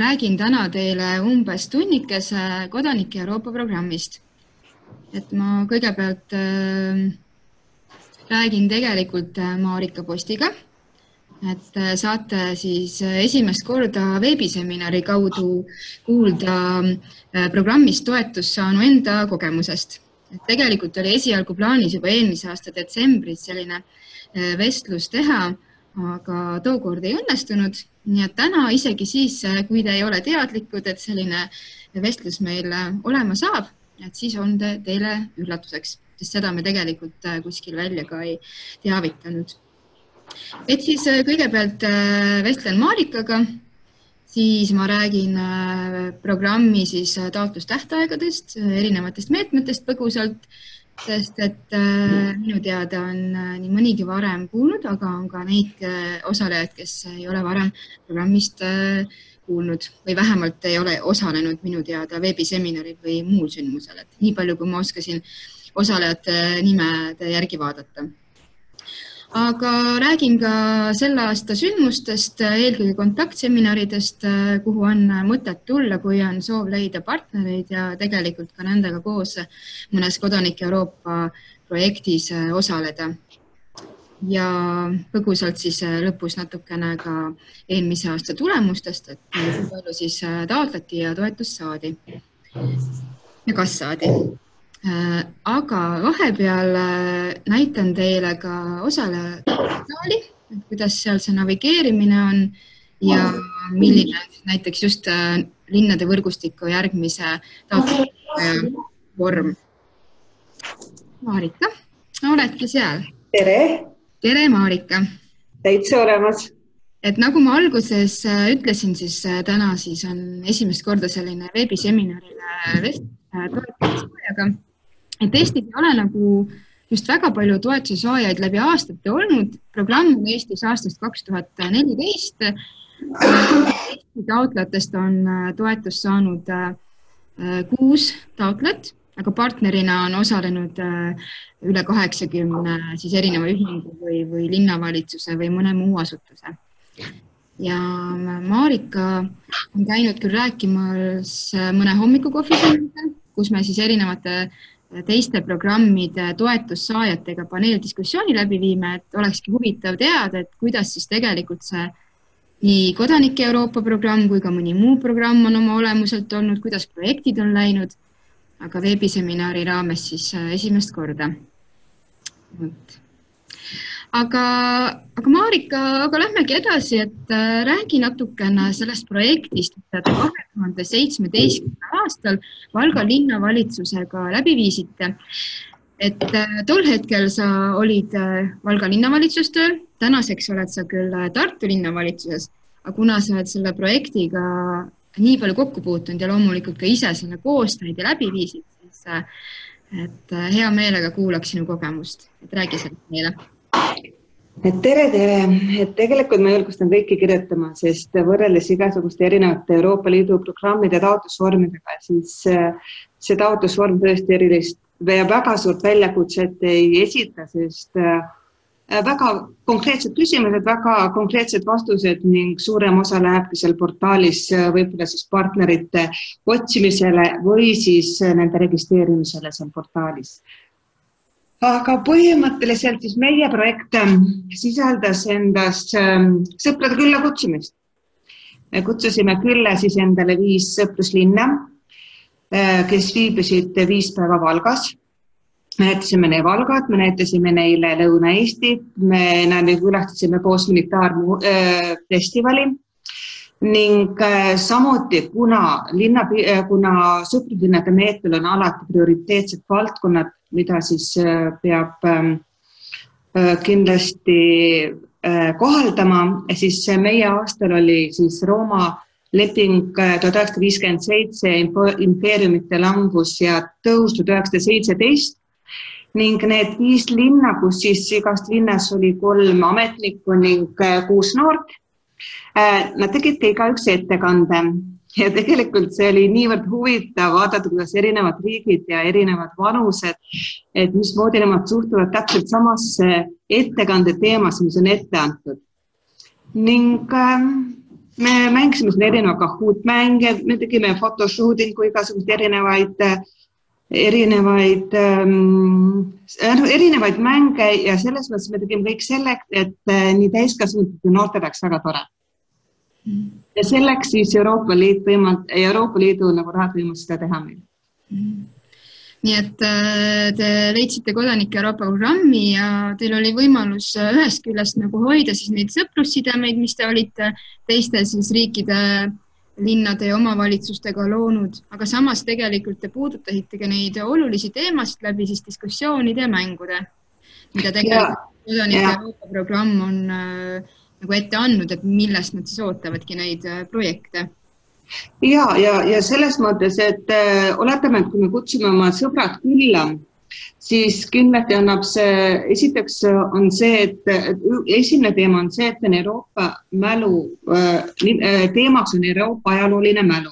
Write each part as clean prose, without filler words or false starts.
räägin täna teile umbes tunnikese Kodanike Euroopa programmist. Et ma kõigepealt räägin tegelikult Marika Postiga, et saate siis esimest korda veebiseminari kaudu kuulda programmist toetust saanu enda kogemusest. Et tegelikult oli esialgu plaanis juba eelmise aasta detsembris selline vestlus teha, aga tookord ei õnnestunud. Nii et täna isegi siis, kui te ei ole teadlikud, et selline vestlus meil olema saab, et siis on teile üllatuseks, sest seda me tegelikult kuskil välja ka ei teavitanud. Et siis kõigepealt vestlen Marikaga, siis ma räägin programmi siis taotlustähtaegadest, erinevatest meetmetest põgusalt, sest et minu teada on nii mõnigi varem kuulnud, aga on ka neid osalejaid, kes ei ole varem programmist kuulnud või vähemalt ei ole osalenud minu teada veebiseminaril või muul sündmusel. Et nii palju, kui ma oskasin osalejate nimede järgi vaadata. Aga räägin ka selle aasta sündmustest, eelkõige kontaktseminaridest, kuhu on mõtet tulla, kui on soov leida partnereid ja tegelikult ka nendega koos mõnes Kodanike Euroopa projektis osaleda. Ja põgusalt siis lõpus natukene ka eelmise aasta tulemustest, et kui palju siis taotleti ja toetust saadi ja kas saadi. Aga vahepeal näitan teile ka osalejaali, kuidas seal see navigeerimine on ja milline näiteks just linnade võrgustiku järgmise taotluse vorm. Marika, oledki seal? Tere! Tere, Marika! Täitsa olemas. Et nagu ma alguses ütlesin, siis täna siis on esimest korda selline veebiseminarile toetussaajaga. Et Eestis ei ole nagu just väga palju toetuse saajaid läbi aastate olnud. Programm on Eestis aastast 2014. Eesti taotlejatest on toetust saanud 6 taotlejat, aga partnerina on osalenud üle 80 siis erineva ühingu või linnavalitsuse või mõne muu asutuse. Ja Marika on käinud küll rääkimas mõne hommikukohvisõnniga, kus me siis erinevate teiste programmide toetussaajatega paneeldiskussiooni läbi viime, et olekski huvitav teada, et kuidas siis tegelikult see nii Kodanike Euroopa programm kui ka mõni muu programm on oma olemuselt olnud, kuidas projektid on läinud, aga veebiseminari raames siis esimest korda. Aga Marika, lähmegi edasi, et räägi natukene sellest projektist, mida te 2017. aastal Valga linnavalitsusega läbi viisite. Et tol hetkel sa olid Valga linnavalitsustööl, tänaseks oled sa küll Tartu linnavalitsuses, aga kuna sa oled selle projektiga nii palju kokku puutunud ja loomulikult ka ise selle koostööd ja läbi viisid, siis et hea meelega kuulaks sinu kogemust, et räägi sellest meile. Tere! Et tegelikult ma julgustan kõiki kirjutama, sest võrreldes igasuguste erinevate Euroopa Liidu programmide taotlusvormidega, siis see taotlusvorm tõesti erilist ja väga suurt väljakutset ei esita, sest väga konkreetsed küsimused, väga konkreetsed vastused ning suurem osa lähebki seal portaalis võib-olla siis partnerite otsimisele või siis nende registreerimisele seal portaalis. Aga põhimõtteliselt siis meie projekt sisaldas endast sõprade külla kutsumist. Me kutsusime külla siis endale 5 sõpruslinna, kes viibisid 5 päeva Valgas. Me näitasime neile Valgat, me näitasime neile Lõuna-Eesti, me külastasime koos militaarfestivali ning samuti, kuna sõpruslinnade meetmel on alati prioriteetsed valdkonnad, mida siis peab kindlasti kohaldama, siis meie aastal oli siis Rooma leping 1957, impeeriumite langus ja tõus 1917 ning need 5 linna, kus siis igast linnas oli 3 ametnikku ning 6 noort. Nad tegid ka üks ettekande ja tegelikult see oli niivõrd huvitav vaadata, kuidas erinevad riigid ja erinevad vanused, et mismoodi nemad suhtuvad täpselt samasse ettekande teemasse, mis on ette antud. Ning me mängisime siin erinevaid Kahoot-mänge, me tegime fotoshootingu, igasugust erinevaid mänge ja selles mõttes me tegime kõik selleks, et nii täiskasvanud kui noorte oleks väga tore. Ja selleks siis Euroopa Liidu nagu rahad võimus seda teha meil. Nii et te leidsite kodanike Euroopa programmi ja teil oli võimalus ühest küljest nagu hoida siis neid sõprussidemeid, mis te olite teiste siis riikide, linnade ja omavalitsustega loonud, aga samas tegelikult te puudutasite ka neid olulisi teemasid läbi siis diskussioonide ja mängude, mida tegelikult kodanike Euroopa programm on nagu ette andnud, et millest nad siis ootavadki neid projekte. Ja selles mõttes, et oletame, et kui me kutsume oma sõbrad külla, siis kindlasti annab see, esiteks on see, et esimene teema on see, et on Euroopa mälu, teemaks on Euroopa ajalooline mälu.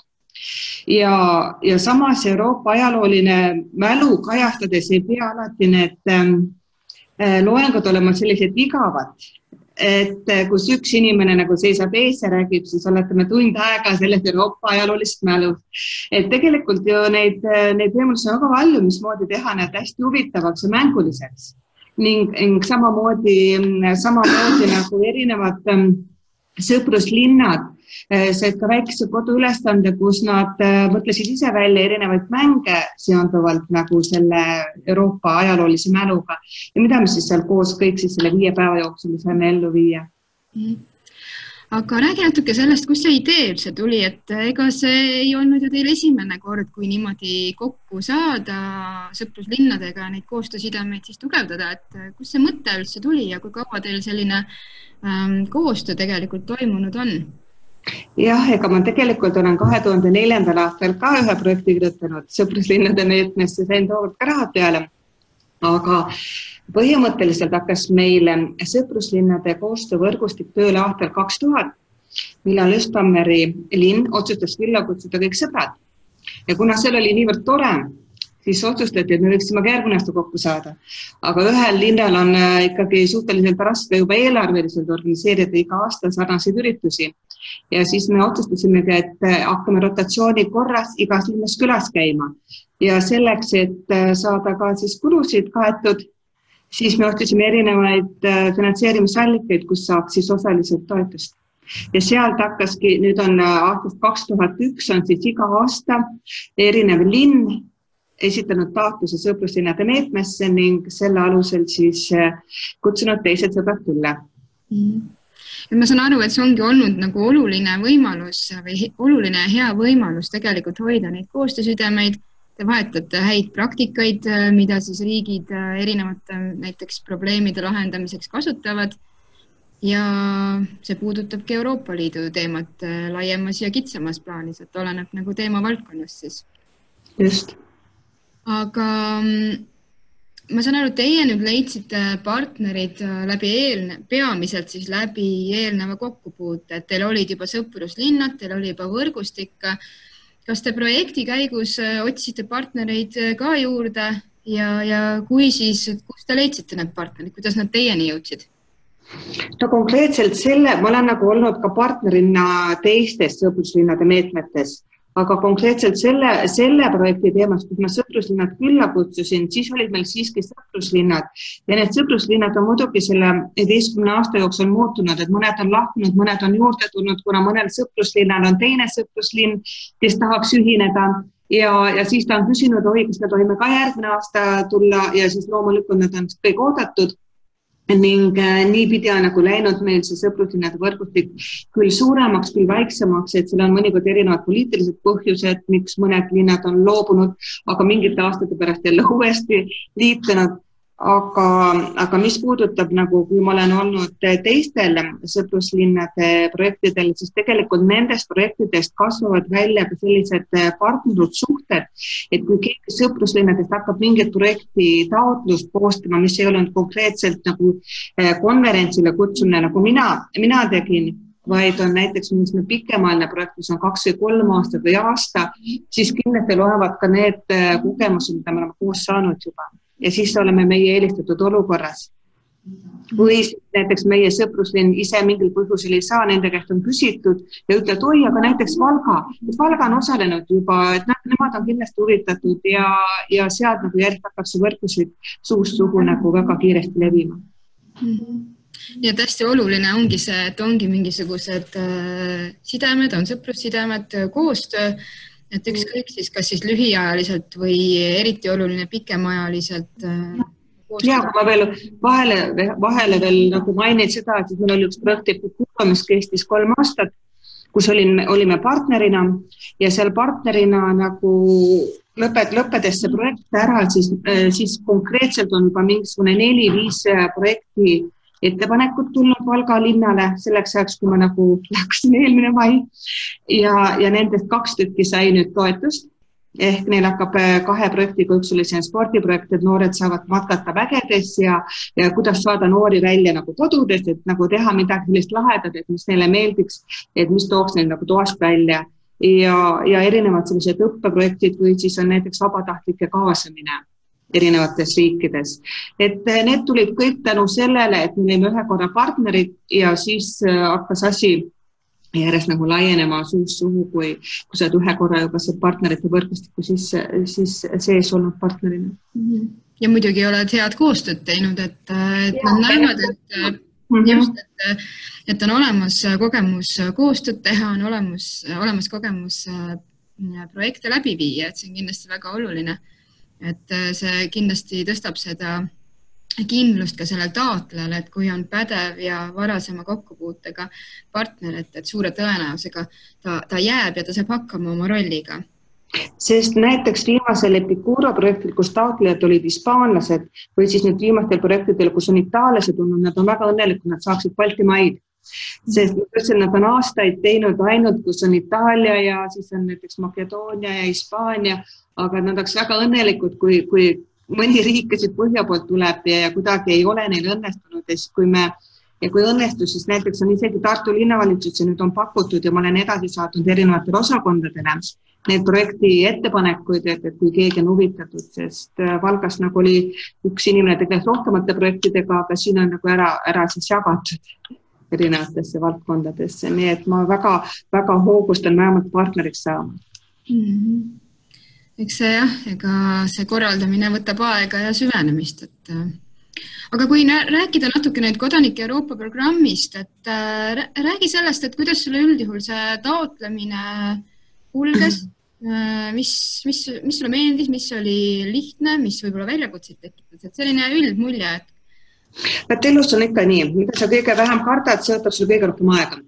Ja samas Euroopa ajalooline mälu kajastades ei pea alati need loengud olema sellised igavad. Et kus üks inimene nagu seisab ees ja räägib, siis oletame tund aega sellest Euroopa ajaloolist mälu. Et tegelikult ju neid võimalusi on väga palju, mismoodi teha need hästi huvitavaks ja mänguliseks. Ning samamoodi nagu erinevad sõpruslinnad said ka väikese koduülestande, kus nad mõtlesid ise välja erinevaid mänge seonduvalt nagu selle Euroopa ajaloolise mäluga ja mida me siis seal koos kõik siis selle 5 päeva jooksul saime ellu viia. Aga räägi natuke sellest, kus see idee üldse tuli, et ega see ei olnud ju teil esimene kord, kui niimoodi kokku saada sõpruslinnadega neid koostöösidemeid siis tugevdada, et kus see mõte üldse tuli ja kui kaua teil selline koostöö tegelikult toimunud on? Jah, ega ma tegelikult olen 2004. aastal ka ühe projekti kirjutanud sõpruslinnade meetmesse, sain tookord ka rahad peale. Aga põhimõtteliselt hakkas meil sõpruslinnade koostöövõrgustik tööle aastal 2000, millal Östhammeri linn otsustas külla kutsuda kõik sõbrad. Ja kuna seal oli niivõrd tore, siis otsustati, et me võiksime ka järgmine aasta kokku saada. Aga ühel linnal on ikkagi suhteliselt raske juba eelarveliselt organiseerida iga aasta sarnaseid üritusi. Ja siis me otsustasimegi, et hakkame rotatsiooni korras igas linnas külas käima. Ja selleks, et saada ka siis kulusid kaetud, siis me ostasime erinevaid finantseerimisallikaid, kus saaks siis osaliselt toetust. Ja sealt hakkaski, nüüd on aastast 2001 on siis iga aasta erinev linn esitanud taotluse sõpruslinnade meetmesse ning selle alusel siis kutsunud teised sõbrad külla. Ma saan aru, et see ongi olnud nagu oluline võimalus või oluline hea võimalus tegelikult hoida neid koostöösidemeid. Te vahetate häid praktikaid, mida siis riigid erinevate näiteks probleemide lahendamiseks kasutavad ja see puudutabki Euroopa Liidu teemat laiemas ja kitsamas plaanis, et oleneb nagu teema valdkonnast siis. Just. Aga ma saan aru, teie nüüd leidsite partnerid peamiselt siis läbi eelneva kokkupuute, et teil olid juba sõpruslinnad, teil oli juba võrgustik. Kas te projekti käigus otsisite partnereid ka juurde ja kui siis, kus te leidsite need partnerid, kuidas nad teieni jõudsid? No konkreetselt ma olen nagu olnud ka partnerina teistes sõpruslinnade meetmetes. Aga konkreetselt selle projekti teemast, kus ma sõpruslinnad külla kutsusin, siis olid meil siiski sõpruslinnad. Ja need sõpruslinnad on muidugi selle 11 aasta jooksul muutunud, et mõned on lahkunud, mõned on juurde tulnud, kuna mõnel sõpruslinnal on teine sõpruslinn, kes tahaks ühineda. Ja siis ta on küsinud, kas me tohime ka järgmine aasta tulla ja siis loomulikult nad on kõik oodatud. Ning niipidi on nagu läinud meil see sõpruslinnade võrgustik küll suuremaks, küll väiksemaks, et seal on mõnikord erinevad poliitilised põhjused, miks mõned linnad on loobunud, aga mingite aastate pärast jälle uuesti liitunud. Aga mis puudutab nagu, kui ma olen olnud teistel sõpruslinnade projektidel, siis tegelikult nendest projektidest kasvavad välja ka sellised partnerlussuhted, et kui keegi sõpruslinnadest hakkab mingit projekti taotlust koostama, mis ei olnud konkreetselt nagu konverentsile kutsumine, nagu mina tegin, vaid on näiteks mingisugune pikemaajaline projekt, mis on 2 või 3 aastat või aasta, siis kindlasti loevad ka need kogemused, mida me oleme koos saanud juba. Ja siis oleme meie eelistatud olukorras. Või näiteks meie sõpruslinn ise mingil põhjusel ei saa, nende käest on küsitud ja ütled, oi, aga näiteks Valga on osalenud juba, et nemad on kindlasti huvitatud ja sealt nagu järjest hakkab see võrgusid suust suhu nagu väga kiiresti levima. Ja hästi oluline ongi see, et ongi mingisugused sidemed, on sõprussidemed, koostöö, et ükskõik siis, kas siis lühiajaliselt või eriti oluline pikemaajaliselt. Ja, kui ma veel vahele veel nagu mainin seda, et meil oli üks projekti, mis kestis 3 aastat, kus olime partnerina ja seal partnerina nagu lõppedes see projekt ära, siis konkreetselt on juba mingisugune 4-5 projekti ettepanekut tulnud Valga linnale selleks ajaks, kui ma nagu läksin eelmine mai ja nendest 2 tükki sai nüüd toetust. Ehk neil hakkab 2 projektiga, üks oli see spordiprojekt, et noored saavad matkata vägedes ja kuidas saada noori välja nagu kodudest, et nagu teha midagi sellist lahedat, et mis neile meeldiks, et mis tooks neil nagu toast välja. Ja erinevad sellised õppeprojektid või siis on näiteks vabatahtlike kaasamine erinevates riikides. Et need tulid kõik tänu sellele, et me olime ühe korra partnerid ja siis hakkas asi järjest nagu laienema suust suhu, kui sa oled ühe korra juba see partnerite võrgustiku siis sees olnud partnerina. Ja muidugi oled head koostööd teinud, et nad näevad, et on olemas kogemus koostööd teha, on olemas kogemus projekte läbi viia, et see on kindlasti väga oluline. Et see kindlasti tõstab seda kindlust ka sellel taotlejal, et kui on pädev ja varasema kokkupuutega partner, et suure tõenäosusega ta jääb ja ta saab hakkama oma rolliga. Sest näiteks viimasel Epicuro projektil, kus taotlejad olid hispaanlased või siis nüüd viimastel projektidel, kus on itaallased olnud, nad on väga õnnelikud, nad saaksid Baltimaid. Sest nad on aastaid teinud ainult, kus on Itaalia ja siis on näiteks Makedoonia ja Hispaania, aga nad oleks väga õnnelikud, kui mõni riik, kes põhja poolt tuleb ja kuidagi ei ole neil õnnestunud, kui õnnestus, siis näiteks on isegi Tartu linnavalitsus ja nüüd on pakutud ja ma olen edasi saatnud erinevatele osakondadele need projekti ettepanekuid, et kui keegi on huvitatud, sest Valgas nagu oli üks inimene tegeles rohkemate projektidega, aga siin on nagu ära siis jagatud erinevatesse valdkondadesse, nii et ma väga hoogustan vähemalt partneriks saama. Eks see ega see korraldamine võtab aega ja süvenemist. Aga kui rääkida natuke nüüd kodanike Euroopa programmist, et räägi sellest, et kuidas sulle üldjuhul see taotlemine kulges, mis sulle meeldis, mis oli lihtne, mis võib-olla väljakutseid tekitas, et selline üldmulje. Elus on ikka nii, mida sa kõige vähem kardad, see võtab sulle kõige rohkem aega.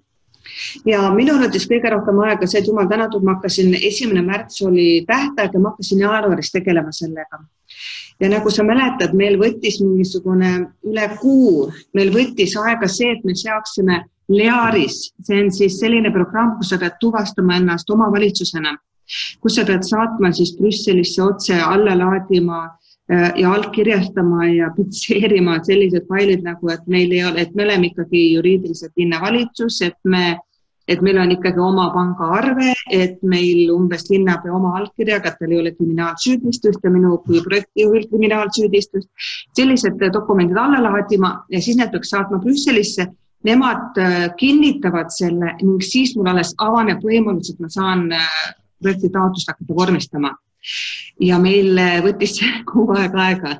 Ja minu arvates kõige rohkem aega see, et jumal tänatud, ma hakkasin 1. märts oli tähtaeg ja ma hakkasin jaanuaris tegelema sellega. Ja nagu sa mäletad, meil võttis mingisugune üle kuu, meil võttis aega see, et me seaksime Learis, see on siis selline programm, kus sa pead tuvastama ennast omavalitsusena, kus sa pead saatma siis Brüsselisse otse alla laadima ja allkirjastama ja pitseerima sellised failid nagu, et meil ei ole, et me oleme ikkagi juriidiliselt linnavalitsus, et meil on ikkagi oma pangaarve, et meil umbes linnapea oma allkirjaga, et tal ei ole kriminaalsüüdistust ja minu kui projektijuhil kriminaalsüüdistust. Sellised dokumendid alla laadima ja siis need peaks saatma Brüsselisse. Nemad kinnitavad selle ning siis mul alles avaneb võimalus, et ma saan projekti taotlust hakata vormistama. Ja meil võttis kuu aega,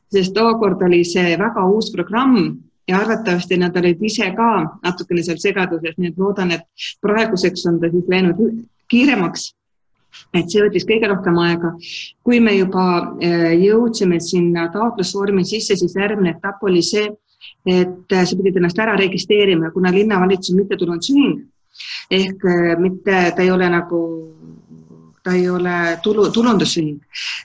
sest tookord oli see väga uus programm ja arvatavasti nad olid ise ka natukene seal segaduses, nii et loodan, et praeguseks on ta siis läinud kiiremaks, et see võttis kõige rohkem aega. Kui me juba jõudsime sinna taotlusvormi sisse, siis järgmine etapp oli see, et sa pidid ennast ära registreerima, kuna linnavalitsus on mittetulundusühing, ehk mitte ta ei ole tulundusühing,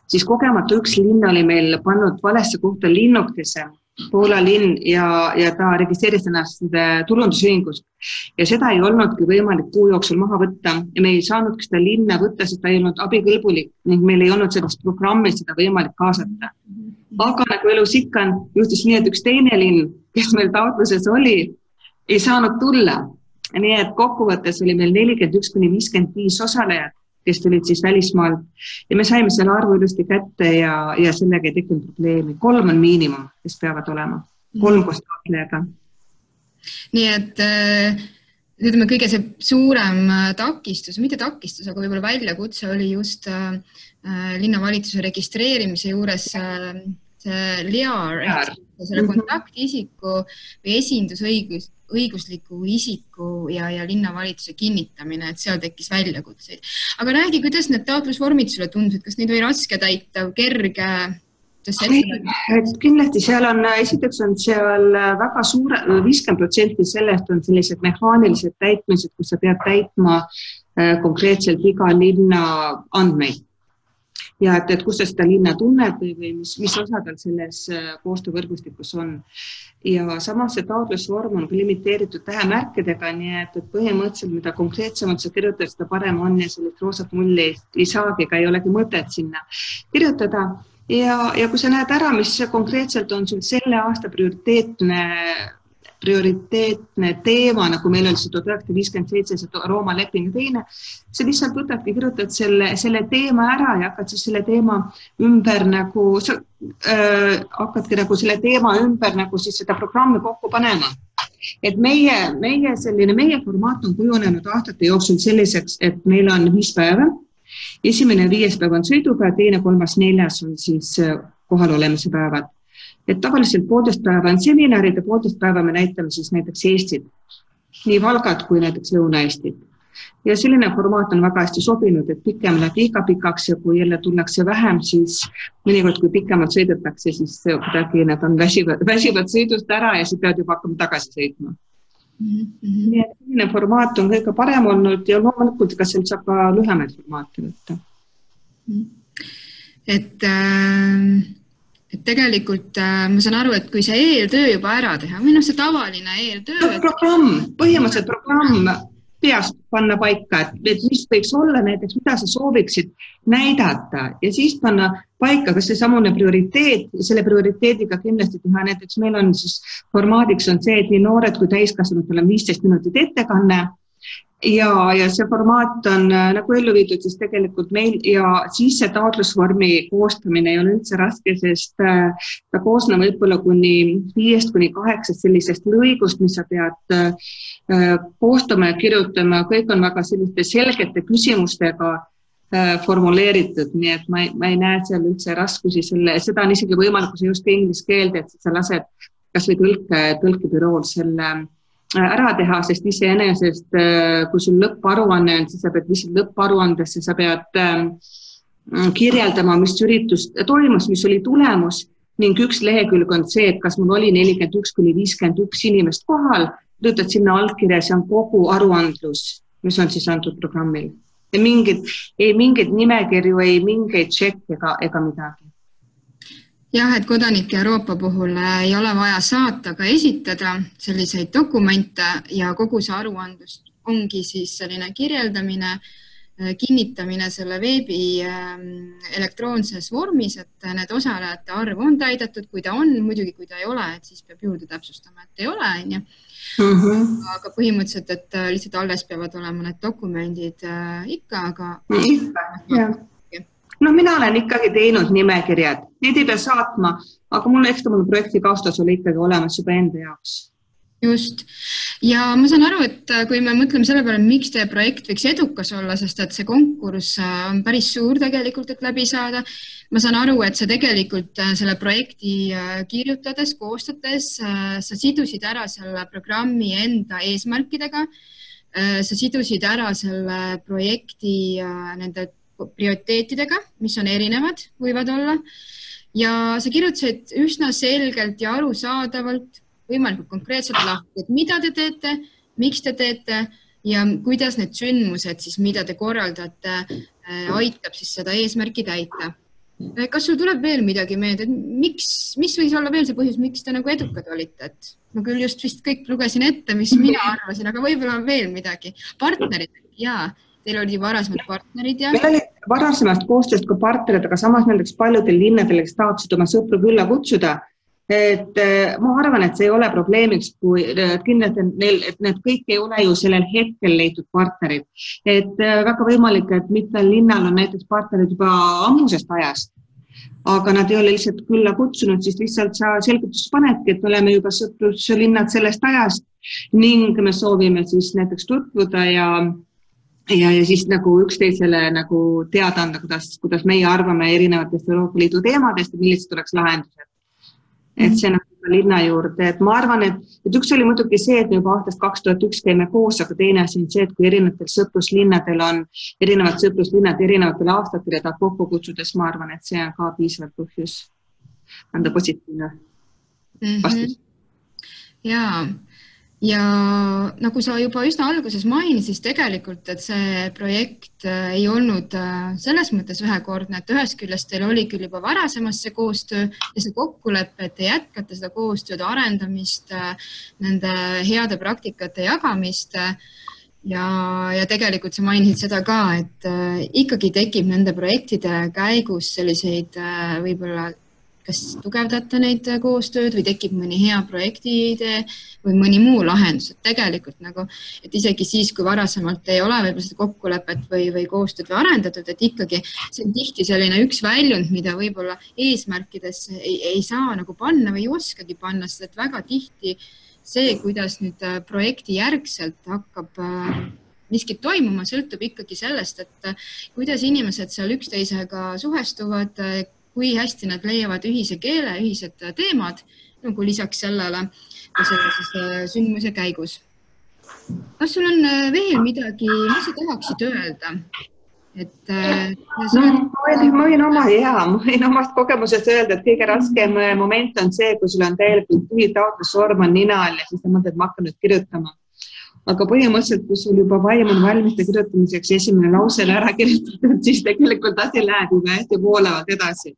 siis kogemata üks linn oli meil pannud valesse kohta linnukese, Poola linn ja ta registreeris ennast tulundusühingus ja seda ei olnudki võimalik kuu jooksul maha võtta ja me ei saanudki seda linna võtta, sest ta ei olnud abikõlbulik ning meil ei olnud sellest programmi seda võimalik kaasata. Aga nagu elus ikka juhtus nii, et üks teine linn, kes meil taotluses oli, ei saanud tulla. Nii et kokkuvõttes oli meil 41–55 osalejat, kes tulid siis välismaalt ja me saime selle arvu ilusti kätte ja sellega ei tekkinud probleemi. 3 on miinimum, kes peavad olema. 3 koos taotlejaga. Nii et ütleme, kõige see suurem takistus, mitte takistus, aga võib-olla väljakutse oli just linnavalitsuse registreerimise juures see LIAR, selle kontaktisiku või esindusõigusliku isiku ja linnavalitsuse kinnitamine, et seal tekkis väljakutseid. Aga räägi, kuidas need taotlusvormid sulle tundusid, kas neid oli raske täita, kerge? Kindlasti seal on, esiteks on seal väga suure, 50% sellest on sellised mehaanilised täitmised, kus sa pead täitma konkreetselt iga linna andmeid. Ja et kus sa seda linna tunned või mis osa tal selles koostöövõrgustikus on. Ja samas see taotlusvorm on limiteeritud tähemärkidega, nii et põhimõtteliselt, mida konkreetsemalt sa kirjutad, seda parem on ja sellist roosat mulli ei saagi, ega ei olegi mõtet sinna kirjutada. Ja kui sa näed ära, mis konkreetselt on sul selle aasta prioriteetne teema, nagu meil oli 1957, see Rooma leping ja teine, see lihtsalt võtadki, kirjutad selle teema ära ja hakkad siis selle teema ümber nagu, hakkadki nagu selle teema ümber nagu siis seda programmi kokku panema. Et meie formaat on kujunenud aastate jooksul selliseks, et meil on 5 päeva. Esimene 5. päev on sõidupäev, teine, 3., 4. on siis kohalolemise päevad. Et tavaliselt 1,5 päeva on seminarid ja 1,5 päeva me näitame siis näiteks Eestit, nii Valgat kui näiteks Lõuna-Eestit. Ja selline formaat on väga hästi sobinud, et pikem läheb liiga pikaks ja kui jälle tullakse vähem, siis mõnikord kui pikemalt sõidetakse, siis kuidagi nad on väsivad sõidust ära ja siis pead juba hakkama tagasi sõitma. Nii et selline formaat on kõige parem olnud ja loomulikult ka seal saab ka lühemaid formaate võtta. Et tegelikult ma saan aru, et kui see eeltöö juba ära teha, või see tavaline eeltöö. Põhimõtteliselt programm peast panna paika, et mis võiks olla näiteks, mida sa sooviksid näidata ja siis panna paika, kas see samune prioriteet ja selle prioriteediga kindlasti teha. Näiteks meil on siis formaadiks on see, et nii noored kui täiskasvanud on 15 minutit ettekanne ja see formaat on nagu ellu viidud siis tegelikult meil ja siis see taotlusvormi koostamine ei ole üldse raske, sest ta koosneb võib-olla kuni 5-8 sellisest lõigust, mis sa pead koostama ja kirjutama. Kõik on väga selliste selgete küsimustega formuleeritud, nii et ma ei näe seal üldse raskusi seda on isegi võimalik, kui sa just inglise keelde, et sa lased kas või tõlkebürool selle ära teha, sest iseenesest, kui sul lõpparuanne on, siis sa pead lihtsalt lõpparuandesse, sa pead kirjeldama, mis üritus toimus, mis oli tulemus ning üks lehekülg on see, et kas mul oli 41-51 inimest kohal, töötad sinna allkirja, see on kogu aruandlus, mis on siis antud programmil. Ja mingid nimekirju, ei mingeid tšekk ega midagi. Jah, et kodanike Euroopa puhul ei ole vaja saata, aga esitada selliseid dokumente ja kogu see aruandlus ongi siis selline kirjeldamine, kinnitamine selle veebi elektroonses vormis, et need osalejate arv on täidetud, kui ta on, muidugi kui ta ei ole, et siis peab juurde täpsustama, et ei ole. Aga põhimõtteliselt, et lihtsalt alles peavad olema need dokumendid ikka, aga... No mina olen ikkagi teinud nimekirjad, need ei pea saatma, aga mul projekti kaustas oli ikkagi olemas juba enda jaoks. Just. Ja ma saan aru, et kui me mõtleme selle peale, miks teie projekt võiks edukas olla, sest et see konkurss on päris suur tegelikult, et läbi saada. Ma saan aru, et sa tegelikult selle projekti kirjutades, koostades, sa sidusid ära selle programmi enda eesmärkidega, sa sidusid ära selle projekti nende prioriteetidega, mis on erinevad, võivad olla. Ja sa kirjutasid üsna selgelt ja arusaadavalt, võimalikult konkreetselt lahti, et mida te teete, miks te teete ja kuidas need sündmused, siis mida te korraldate, aitab siis seda eesmärki täita. Kas sul tuleb veel midagi meelde, mis võis olla veel see põhjus, miks te nagu edukad olite? Et ma küll just vist kõik lugesin ette, mis mina arvasin, aga võib-olla on veel midagi. Partnerid, jaa. Teil oli varasemad partnerid ja... Meil oli varasemast koostööst ka partnerid, aga samas näiteks paljudel linnadel, kes tahtsid oma sõpru külla kutsuda. Et ma arvan, et see ei ole probleemiks, kui kindlasti et need kõik ei ole ju sellel hetkel leitud partnerid. Et väga võimalik, et mitmel linnal on näiteks partnerid juba ammusest ajast. aga nad ei ole lihtsalt külla kutsunud, siis lihtsalt sa selgitus panedki, et oleme juba sõpruslinnad sellest ajast ning me soovime siis näiteks tutvuda ja siis nagu üksteisele nagu teada anda, kuidas meie arvame erinevatest Euroopa Liidu teemadest ja millised oleks lahendused. Et see nagu linna juurde, et ma arvan, et üks oli muidugi see, et me juba aastast 2001 käime koos, aga teine asi on see, et kui erinevatel sõpruslinnadel on erinevad sõpruslinnad erinevatel aastatel ja ta kokku kutsudes, ma arvan, et see on ka piisavalt põhjus anda positiivne vastus. Ja nagu sa juba üsna alguses mainisid, siis tegelikult, et see projekt ei olnud selles mõttes ühekordne, et ühest küljest teil oli küll juba varasemas see koostöö ja see kokkulepe, et te jätkate seda koostööd, arendamist, nende heade praktikate jagamist ja tegelikult sa mainisid seda ka, et ikkagi tekib nende projektide käigus selliseid võib-olla kas tugevdate neid koostööd või tekib mõni hea projekti idee või mõni muu lahendus, et tegelikult nagu, et isegi siis, kui varasemalt ei ole võib-olla seda kokkulepet või koostööd või arendatud, et ikkagi see on tihti selline üks väljund, mida võib-olla eesmärkides ei saa nagu panna või ei oskagi panna, sest et väga tihti see, kuidas nüüd projekti järgselt hakkab miskit toimuma, sõltub ikkagi sellest, et kuidas inimesed seal üksteisega suhestuvad, kui hästi nad leiavad ühise keele, ühised teemad, nagu lisaks sellele sündmuse käigus. Kas sul on veel midagi, mis sa tahaksid öelda? Ma võin omast kogemusest öelda, et kõige raskem moment on see, kui sul on täielikult tühi taotlusvorm on nina all ja siis sa mõtled, ma hakkan nüüd kirjutama. Aga põhimõtteliselt, kui sul juba vaim on valmiste kirjutamiseks esimene lausele ära kirjutatud, siis tegelikult asi läheb juba hästi voolavalt edasi.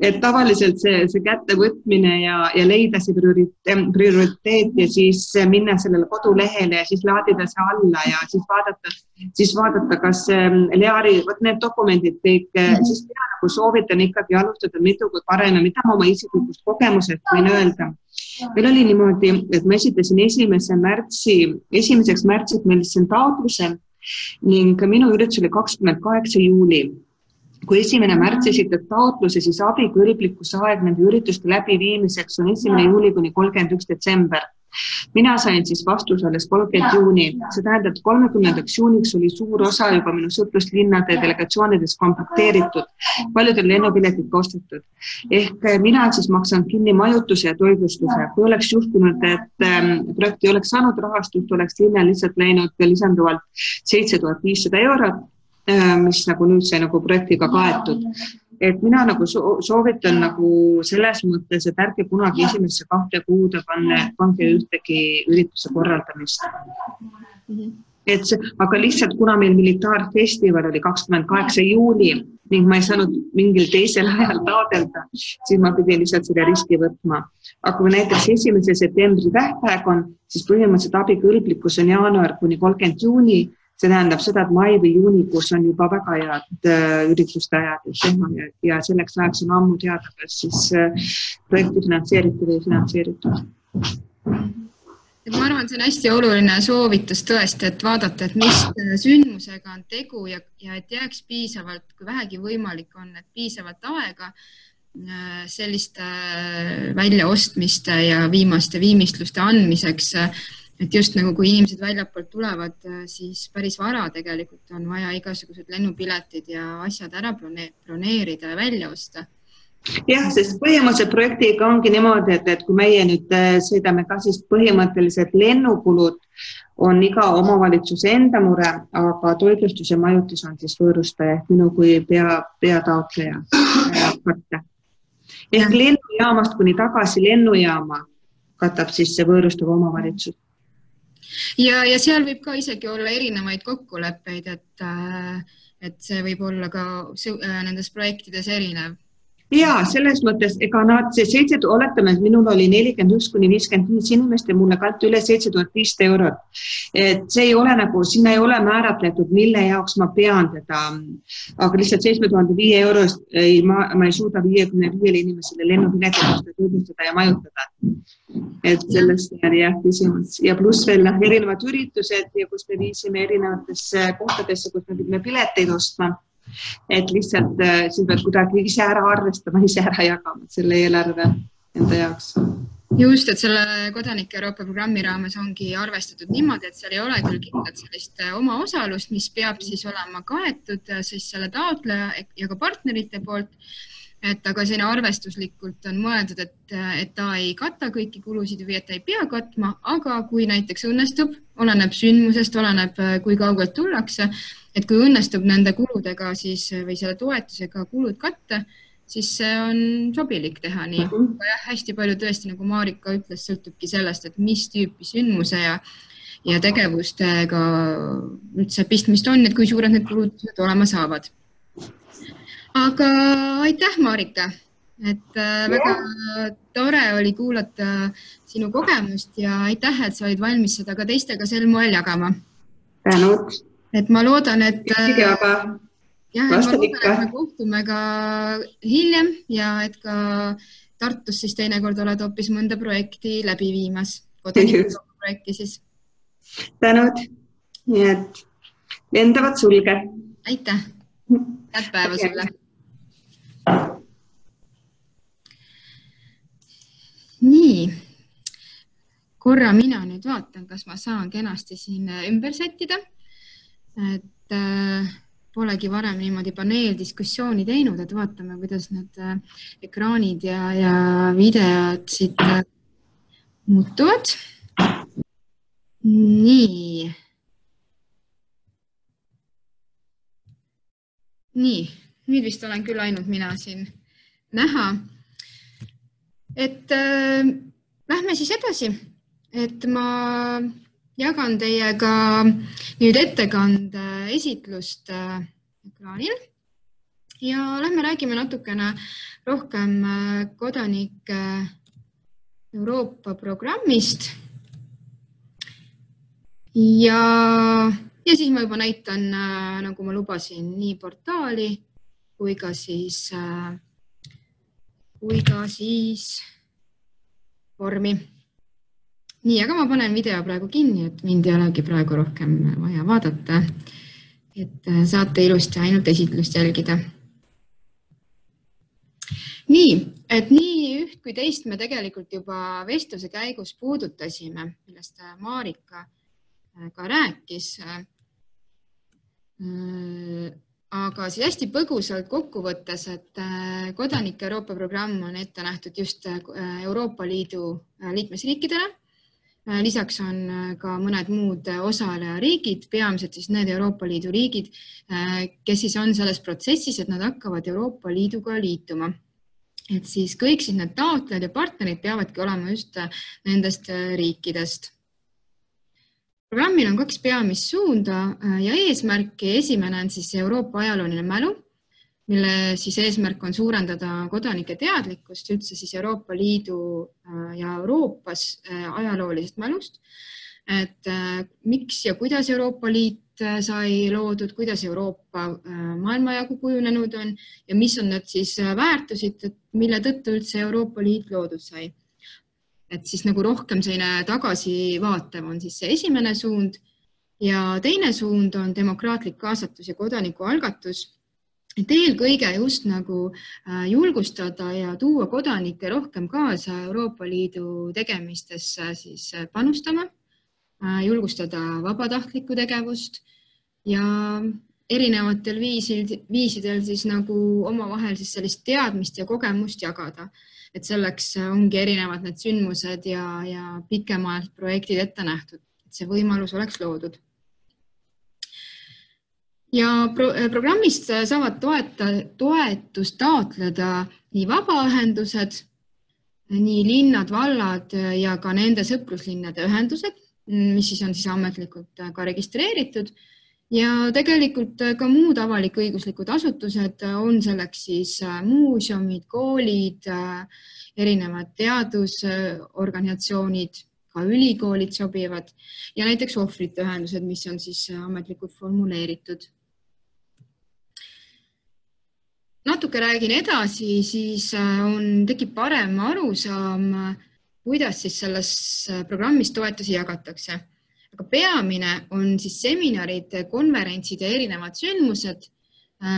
Et tavaliselt see kättevõtmine ja leida see prioriteet ja siis minna sellele kodulehele ja siis laadida see alla ja siis vaadata kas Leari, need dokumendid kõik, siis mina nagu soovitan ikkagi alustada mitu kui parem ja mida ma oma isiklikust kogemusest võin öelda. Meil oli niimoodi, et ma esitasin 1. märtsiks meil siin taotluse ning minu üritus oli 28. juuli. Kui 1. märts esitad taotluse, siis abikõlblikkuse aeg nende ürituste läbiviimiseks on 1. juuli kuni 31. detsember. Mina sain siis vastuse alles 30. juuni. See tähendab, et 30. juuniks oli suur osa juba minu sõpruslinnade delegatsioonides komplekteeritud, paljudel lennupiletid kostatud. Ehk mina siis maksan kinni majutuse ja toitlustuse. Kui oleks juhtunud, et projekt ei oleks saanud rahastust, oleks linna lihtsalt läinud lisanduvalt 7500 eurot, mis nagu nüüd sai nagu projektiga kaetud. Et mina nagu soovitan nagu selles mõttes, et ärge kunagi esimesse 2 kuude pange ühtegi ürituse korraldamist. Aga lihtsalt kuna meil militaarfestival oli 28. juuli ning ma ei saanud mingil teisel ajal taodelda, siis ma pidin lihtsalt selle riski võtma. Aga kui näiteks 1. septembri tähtpäev on, siis põhimõtteliselt abikõlblikkus on jaanuar kuni 30. juuni. See tähendab seda, et mai või juunikuus on juba väga head ürituste ajad ja selleks ajaks on ammu teada, kas siis projekti finantseeritud või finantseeritud. Ma arvan, see on hästi oluline soovitus tõesti, et vaadata, et mis sündmusega on tegu ja et jääks piisavalt, kui vähegi võimalik on, et piisavalt aega selliste väljaostmiste ja viimaste viimistluste andmiseks. Et just nagu kui inimesed väljapoolt tulevad, siis päris vara tegelikult on vaja igasugused lennupiletid ja asjad ära broneerida ja välja osta. Jah, sest põhimõtteliselt projektiga ongi niimoodi, et kui meie nüüd sõidame ka siis põhimõtteliselt lennukulud on iga omavalitsuse enda mure, aga toitlustus ja majutis on siis võõrustaja minu kui peataotleja katta. Ehk lennujaamast kuni tagasi lennujaama katab siis see võõrustav omavalitsus. Ja seal võib ka isegi olla erinevaid kokkuleppeid, et see võib olla ka nendes projektides erinev. Jaa, selles mõttes, ega nad oletame, et minul oli 41 kuni 55 inimest ja mulle kanti üle 7500 eurot. Et see ei ole nagu, sinna ei ole määratletud, mille jaoks ma pean teda, aga lihtsalt 7500 eurost ma ei suuda 55 inimesele lennupiletid tutvustada ja majutada. Et sellest on jah küsimus. Ja pluss veel erinevad üritused, kus me viisime erinevatesse kohtadesse, kus me pidime pileteid ostma. et lihtsalt siis pead kuidagi ise ära arvestama, ise ära jagama selle eelarve enda jaoks. Just, et selle Kodanike Euroopa programmi raames ongi arvestatud niimoodi, et seal ei ole küll kindlat sellist oma osalust, mis peab siis olema kaetud siis selle taotleja ja ka partnerite poolt. Et aga selline arvestuslikult on mõeldud, et ta ei kata kõiki kulusid või et ta ei pea katma, aga kui näiteks õnnestub, oleneb sündmusest, oleneb kui kaugelt tullakse, et kui õnnestub nende kuludega siis, või selle toetusega kulud katta, siis see on sobilik teha nii. Ja hästi palju tõesti, nagu Marika ütles, sõltubki sellest, et mis tüüpi sündmuse ja tegevustega üldse pistmist on, et kui suured need kulud olema saavad. Aga aitäh, Marika, et väga tore oli kuulata sinu kogemust ja aitäh, et sa olid valmis seda ka teistega sel moel jagama. Tänud. Et ma loodan, et me kohtume ka hiljem ja et ka Tartus siis teinekord oled hoopis mõnda projekti läbi viimas. Projekti siis. Tänud. Nii et lendavat sulge. Aitäh. Head päeva sulle. Nii, korra mina nüüd vaatan, kas ma saan kenasti siin ümber sättida, et polegi varem niimoodi paneeldiskussiooni teinud, et vaatame, kuidas need ekraanid ja videod siit muutuvad. Nii, nüüd vist olen küll ainult mina siin näha. Et lähme siis edasi, et ma jagan teiega nüüd ettekande esitlust ekraanil ja lähme räägime natukene rohkem Kodanike Euroopa programmist ja siis ma juba näitan, nagu ma lubasin, nii portaali kui ka siis vormi. Nii, aga ma panen video praegu kinni, et mind ei olegi praegu rohkem vaja vaadata, et saate ilusti ainult esitlust jälgida. Nii, et nii üht kui teist me tegelikult juba vestluse käigus puudutasime, millest Marika ka rääkis. Aga siis hästi põgusalt kokkuvõttes, et Kodanike Euroopa programm on ette nähtud just Euroopa Liidu liikmesriikidele. Lisaks on ka mõned muud osalejariigid, peamiselt siis need Euroopa Liidu riigid, kes siis on selles protsessis, et nad hakkavad Euroopa Liiduga liituma. Et siis kõik siis need taotlejad ja partnerid peavadki olema just nendest riikidest. Programmil on 2 peamist suunda ja eesmärki. Esimene on siis Euroopa ajalooline mälu, mille siis eesmärk on suurendada kodanike teadlikkust üldse siis Euroopa Liidu ja Euroopas ajaloolisest mälust. Et miks ja kuidas Euroopa Liit sai loodud, kuidas Euroopa maailmajagu kujunenud on ja mis on need siis väärtusid, mille tõttu üldse Euroopa Liit loodud sai. Et siis nagu rohkem selline tagasivaatev on siis see esimene suund ja teine suund on demokraatlik kaasatus ja kodanikualgatus. Et eelkõige just nagu julgustada ja tuua kodanikke rohkem kaasa Euroopa Liidu tegemistesse siis panustama, julgustada vabatahtlikku tegevust ja erinevatel viisidel siis nagu omavahel siis sellist teadmist ja kogemust jagada. Et selleks ongi erinevad need sündmused ja pikemalt projektid ette nähtud, et see võimalus oleks loodud. Ja programmist saavad toetust taotleda nii vabaühendused, nii linnad, vallad ja ka nende sõpruslinnade ühendused, mis siis on siis ametlikult ka registreeritud. Ja tegelikult ka muud avalik-õiguslikud asutused on selleks siis muuseumid, koolid, erinevad teadusorganisatsioonid, ka ülikoolid sobivad ja näiteks ohvrite ühendused, mis on siis ametlikult formuleeritud. Natuke räägin edasi, siis tekib parem arusaam, kuidas siis selles programmis toetusi jagatakse. Aga peamine on siis seminarid, konverentsid ja erinevad sündmused,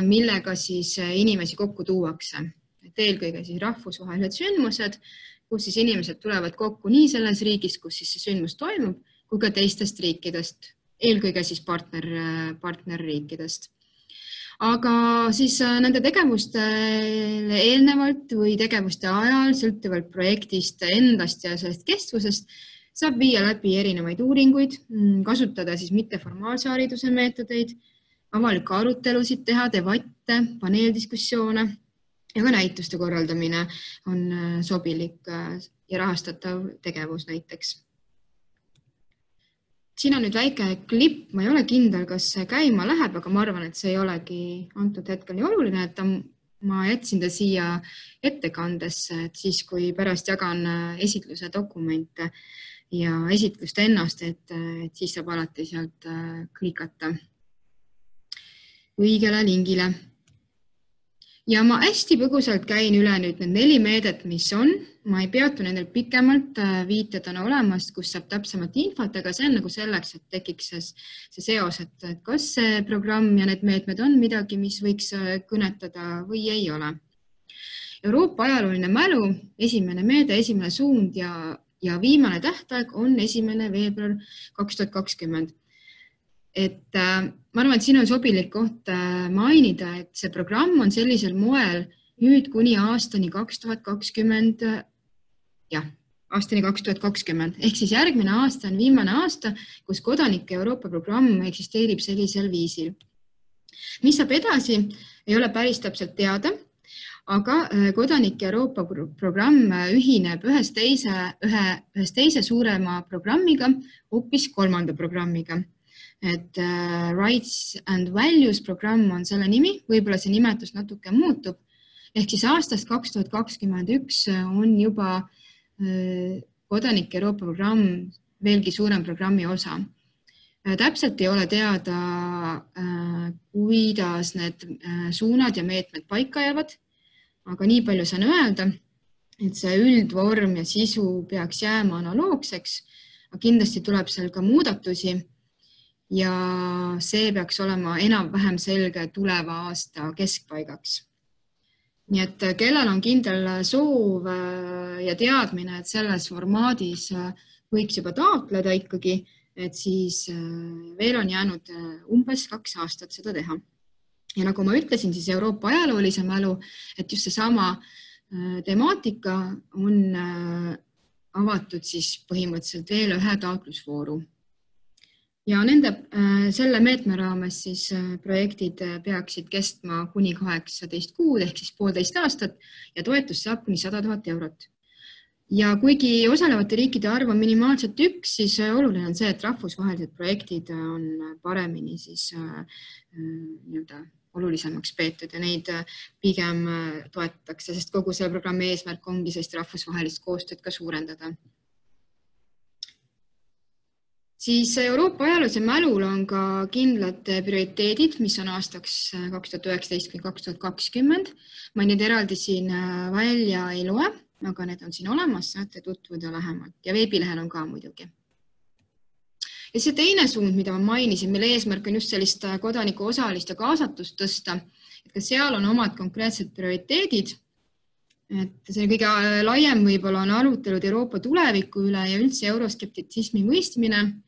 millega siis inimesi kokku tuuakse. Et eelkõige siis rahvusvahelised sündmused, kus siis inimesed tulevad kokku nii selles riigis, kus siis see sündmus toimub, kui ka teistest riikidest, eelkõige siis partnerriikidest. Aga siis nende tegevustele eelnevalt või tegevuste ajal, sõltuvalt projektist endast ja sellest kestvusest, saab viia läbi erinevaid uuringuid, kasutada siis mitteformaalse hariduse meetodeid, avalikke arutelusid teha, debatte, paneeldiskussioone ja ka näituste korraldamine on sobilik ja rahastatav tegevus näiteks. Siin on nüüd väike klipp, ma ei ole kindel, kas see käima läheb, aga ma arvan, et see ei olegi antud hetkel nii oluline, et ma jätsin ta siia ettekandesse, et siis kui pärast jagan esitluse dokumente ja esitlust ennast, et siis saab alati sealt klikata õigele lingile. Ja ma hästi põgusalt käin üle nüüd need 4 meedet, mis on. Ma ei peatu nendel pikemalt, viited on olemas, kus saab täpsemat infot, aga see on nagu selleks, et tekiks see seos, et kas see programm ja need meetmed on midagi, mis võiks kõnetada või ei ole. Euroopa ajalooline mälu, esimene meede, esimene suund ja viimane tähtaeg on 1. veebruar 2020. Et ma arvan, et siin on sobilik koht mainida, et see programm on sellisel moel nüüd kuni aastani 2020, aastani 2020, ehk siis järgmine aasta on viimane aasta, kus kodanike Euroopa programm eksisteerib sellisel viisil. Mis saab edasi, ei ole päris täpselt teada, aga kodanike Euroopa programm ühineb ühes teise suurema programmiga, hoopis 3. programmiga. Et Rights and Values programm on selle nimi, võib-olla see nimetus natuke muutub. Ehk siis aastast 2021 on juba kodanike Euroopa programm veelgi suurem programmi osa. Täpselt ei ole teada, kuidas need suunad ja meetmed paika jäävad, aga nii palju saan öelda, et see üldvorm ja sisu peaks jääma analoogseks, aga kindlasti tuleb seal ka muudatusi. Ja see peaks olema enam-vähem selge tuleva aasta keskpaigaks. Nii et kellel on kindel soov ja teadmine, et selles formaadis võiks juba taotleda ikkagi, et siis veel on jäänud umbes 2 aastat seda teha. Ja nagu ma ütlesin, siis Euroopa ajaloolise mälu, et just seesama temaatika on avatud siis põhimõtteliselt veel ühe taotlusvooru. Ja selle meetme raames siis projektid peaksid kestma kuni 18 kuud ehk siis 1,5 aastat ja toetus saab kuni 100 000 eurot. Ja kuigi osalevate riikide arv on minimaalselt 1, siis oluline on see, et rahvusvahelised projektid on paremini siis olulisemaks peetud ja neid pigem toetatakse, sest kogu selle programmi eesmärk ongi sellist rahvusvahelist koostööd ka suurendada. Siis Euroopa ajaloolise mälul on ka kindlad prioriteedid, mis on aastaks 2019–2020. Ma neid eraldi siin välja ei loe, aga need on siin olemas, saate tutvuda lähemalt ja veebilehel on ka muidugi. Ja see teine suund, mida ma mainisin, mille eesmärk on just sellist kodaniku osalist ja kaasatust tõsta, et ka seal on omad konkreetsed prioriteedid. Et see kõige laiem võib-olla on arutelud Euroopa tuleviku üle ja üldse euroskeptitsismi mõistmine,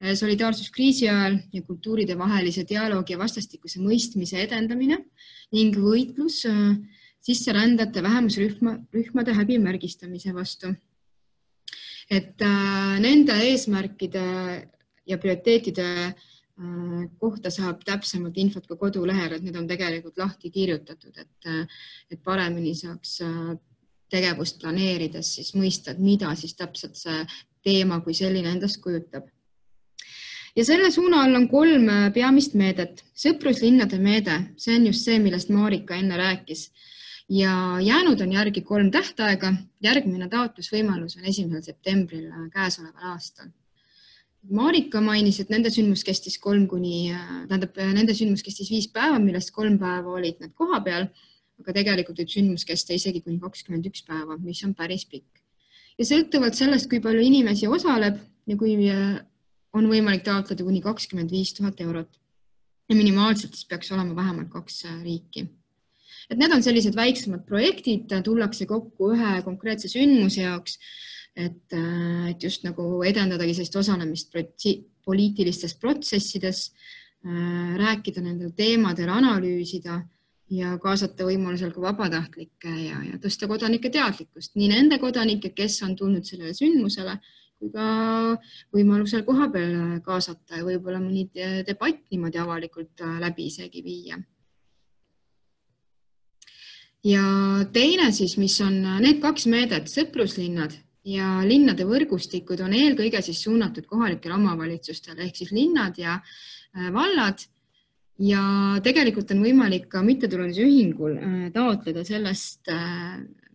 solidaarsuskriisi ajal ja kultuuride vahelise dialoogi ja vastastikuse mõistmise edendamine ning võitlus sisserändajate vähemusrühmade häbimärgistamise vastu. Et nende eesmärkide ja prioriteetide kohta saab täpsemalt infot ka kodulehel, et need on tegelikult lahti kirjutatud, et paremini saaks tegevust planeerides siis mõista, mida siis täpselt see teema kui selline endast kujutab. Ja selle suuna all on 3 peamist meedet. Sõpruslinnade meede, see on just see, millest Marika enne rääkis. Ja jäänud on järgi 3 tähtaega. Järgmine taotlusvõimalus on 1. septembril käesoleval aastal. Marika mainis, et nende sündmus kestis 5 päeva, millest 3 päeva olid need koha peal, aga tegelikult võib sündmus kesta isegi kuni 21 päeva, mis on päris pikk. Ja sõltuvalt sellest, kui palju inimesi osaleb ja kui on võimalik taotleda kuni 25 000 eurot. ja minimaalselt siis peaks olema vähemalt 2 riiki. Et need on sellised väiksemad projektid, tullakse kokku ühe konkreetse sündmuse jaoks, et just nagu edendadagi sellist osalemist poliitilistes protsessides, rääkida nendel teemadel, analüüsida ja kaasata võimalusel ka vabatahtlikke ja tõsta kodanike teadlikkust. Nii nende kodanike, kes on tulnud sellele sündmusele, kui ka võimalusel koha peal kaasata ja võib-olla mõni debatt niimoodi avalikult läbi isegi viia. Ja teine siis, mis on need 2 meedet, sõpruslinnad ja linnade võrgustikud on eelkõige siis suunatud kohalikele omavalitsustele ehk siis linnad ja vallad ja tegelikult on võimalik ka mittetulundusühingul taotleda sellest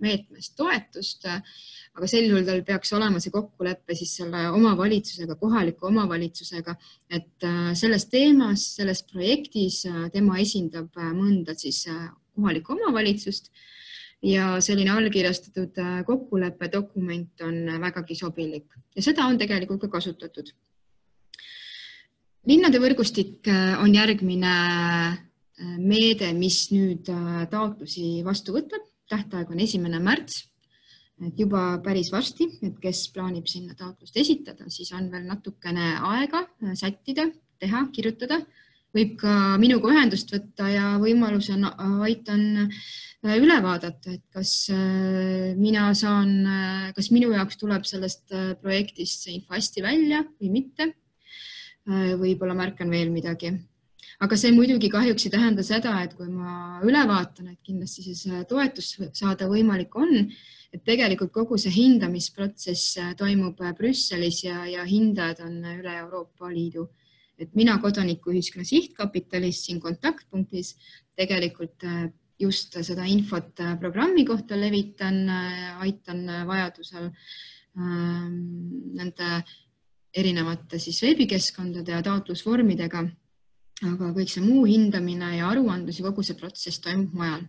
meetmest toetust, aga sel juhul tal peaks olema see kokkulepe siis selle omavalitsusega, kohaliku omavalitsusega, et selles teemas, selles projektis tema esindab mõnda siis kohalikku omavalitsust ja selline allkirjastatud kokkuleppe dokument on vägagi sobilik ja seda on tegelikult ka kasutatud. Linnade võrgustik on järgmine meede, mis nüüd taotlusi vastu võtab. Tähtaeg on 1. märts, et juba päris varsti, et kes plaanib sinna taotlust esitada, siis on veel natukene aega sättida, teha, kirjutada. Võib ka minuga ühendust võtta ja võimalusel aitan üle vaadata, et kas minu jaoks tuleb sellest projektist see info hästi välja või mitte. Võib-olla märkan veel midagi. Aga see muidugi kahjuks ei tähenda seda, et kui ma üle vaatan, et kindlasti siis toetus saada võimalik on, et tegelikult kogu see hindamisprotsess toimub Brüsselis ja hindajad on üle Euroopa Liidu. Et mina kodanikuühiskonna sihtkapitalis siin kontaktpunktis tegelikult just seda infot programmi kohta levitan, aitan vajadusel nende erinevate siis veebikeskkondade ja taotlusvormidega, aga kõik see muu hindamine ja aruandlus ja kogu see protsess toimub mujal.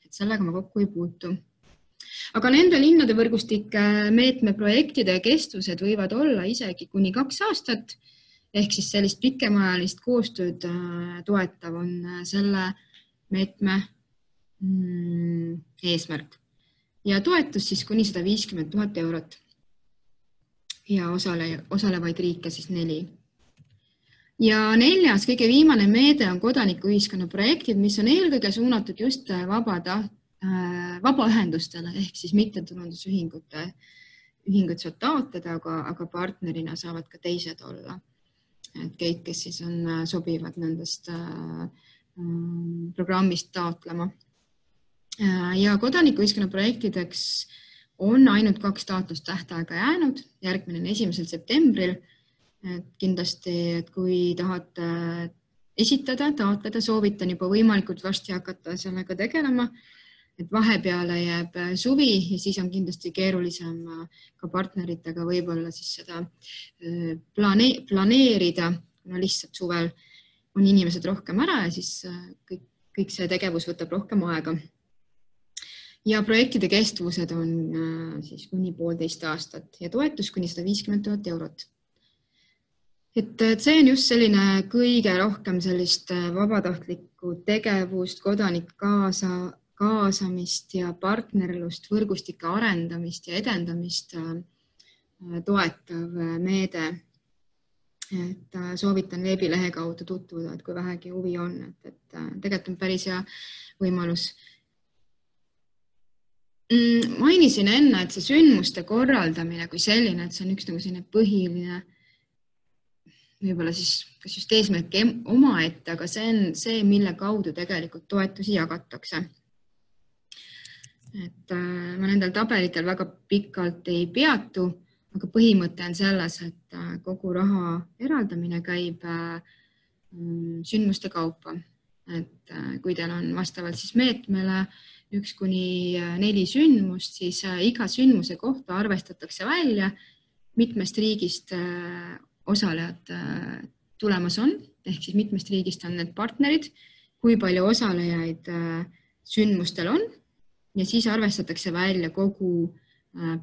Et sellega ma kokku ei puutu. Aga nende linnade võrgustike meetme projektide kestused võivad olla isegi kuni 2 aastat, ehk siis sellist pikemaajalist koostööd toetav on selle meetme eesmärk. Ja toetus siis kuni 150 000 eurot. Ja osalevaid riike siis 4. Ja 4. kõige viimane meede on kodanikuühiskonna projektid, mis on eelkõige suunatud just vabaühendustele ehk siis mittetulundusühingute. Ühingud saavad taotleda, aga partnerina saavad ka teised olla. Et kõik, kes siis on sobivad nendest programmist taotlema. Ja kodanikuühiskonna projektideks on ainult 2 taotlust tähtaega jäänud, järgmine on 1. septembril. Et kindlasti, et kui tahate esitada, taotleda, soovitan juba võimalikult varsti hakata sellega tegelema, et vahepeale jääb suvi ja siis on kindlasti keerulisem ka partneritega võib-olla siis seda planeerida, kuna lihtsalt suvel on inimesed rohkem ära ja siis kõik see tegevus võtab rohkem aega. Ja projektide kestvused on siis kuni 1,5 aastat ja toetus kuni 150 000 eurot. Et see on just selline kõige rohkem sellist vabatahtlikku tegevust, kodanik kaasamist ja partnerlust, võrgustike arendamist ja edendamist toetav meede. Et soovitan veebilehe kaudu tutvuda, et kui vähegi huvi on, et tegelikult on päris hea võimalus. Mainisin enne, et see sündmuste korraldamine kui selline, et see on üks nagu selline põhiline, võib-olla siis kas just eesmärk omaette, aga see on see, mille kaudu tegelikult toetusi jagatakse. Et ma nendel tabelitel väga pikalt ei peatu, aga põhimõte on selles, et kogu raha eraldamine käib sündmuste kaupa. Et kui teil on vastavalt siis meetmele 1 kuni 4 sündmust, siis iga sündmuse kohta arvestatakse välja, mitmest riigist osalejad tulemas on, ehk siis mitmest riigist on need partnerid, kui palju osalejaid sündmustel on ja siis arvestatakse välja kogu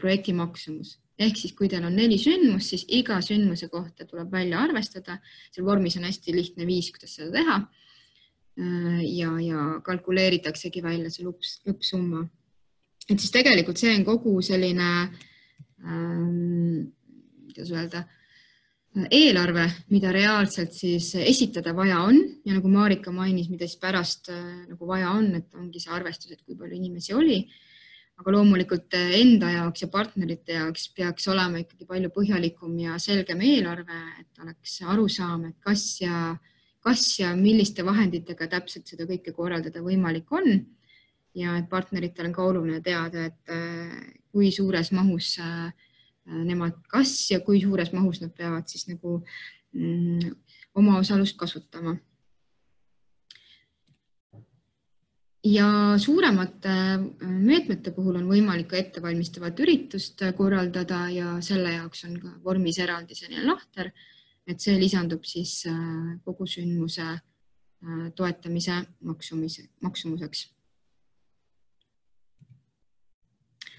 projekti maksumus. Ehk siis kui teil on 4 sündmust, siis iga sündmuse kohta tuleb välja arvestada. Seal vormis on hästi lihtne viis, kuidas seda teha. ja kalkuleeritaksegi välja see lõppsumma. Et siis tegelikult see on kogu selline, kuidas öelda, eelarve, mida reaalselt siis esitada vaja on ja nagu Marika mainis, mida siis pärast nagu vaja on, et ongi see arvestus, et kui palju inimesi oli. Aga loomulikult enda jaoks ja partnerite jaoks peaks olema ikkagi palju põhjalikum ja selgem eelarve, et oleks arusaam, et kas ja milliste vahenditega täpselt seda kõike korraldada võimalik on. Ja et partneritel on ka oluline teada, et kui suures mahus nemad ja kui suures mahus nad peavad siis nagu oma osalust kasutama. Ja suuremate meetmete puhul on võimalik ka ettevalmistavat üritust korraldada ja selle jaoks on ka vormis eraldi selline lahter, et see lisandub siis kogu sündmuse toetamise maksumuseks.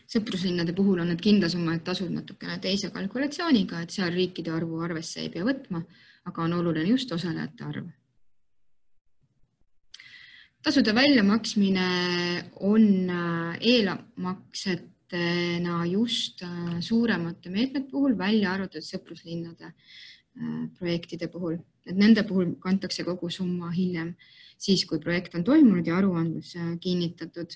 Sõpruslinnade puhul on need kindlasummad tasud natukene teise kalkulatsiooniga, et seal riikide arvu arvesse ei pea võtma, aga on oluline just osalejate arv. Tasude väljamaksmine on eelmaksetena just suuremate meetmete puhul välja arvatud sõpruslinnade projektide puhul. Et nende puhul kantakse kogu summa hiljem, siis kui projekt on toimunud ja aruandlus kinnitatud.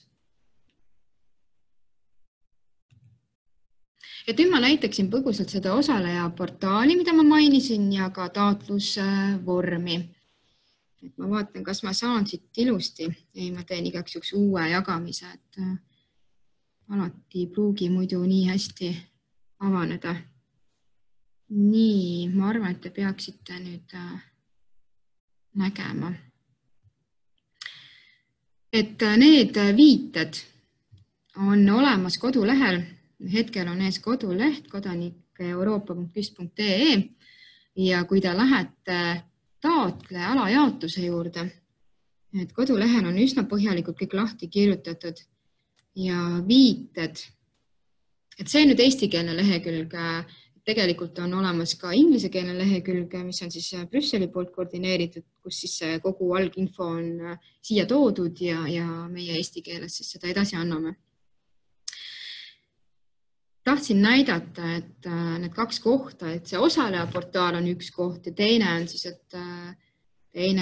Et nüüd ma näitaksin põgusalt seda osaleja portaali, mida ma mainisin ja ka taotlusvormi. Et ma vaatan, kas ma saan siit ilusti. Ei, ma teen igaks juhuks uue jagamise, et alati ei pruugi muidu nii hästi avaneda. Nii, ma arvan, et te peaksite nüüd nägema. Et need viited on olemas kodulehel. Hetkel on ees koduleht kodanikeeuroopa.küst.ee ja kui te lähete taotle alajaotuse juurde, et kodulehel on üsna põhjalikult kõik lahti kirjutatud ja viited. Et see nüüd eestikeelne lehekülg, tegelikult on olemas ka inglisekeelne lehekülg, mis on siis Brüsseli poolt koordineeritud, kus siis kogu alginfo on siia toodud ja meie eesti keeles siis seda edasi anname. Tahtsin näidata, et need kaks kohta, et see osaleja portaal on üks koht ja teine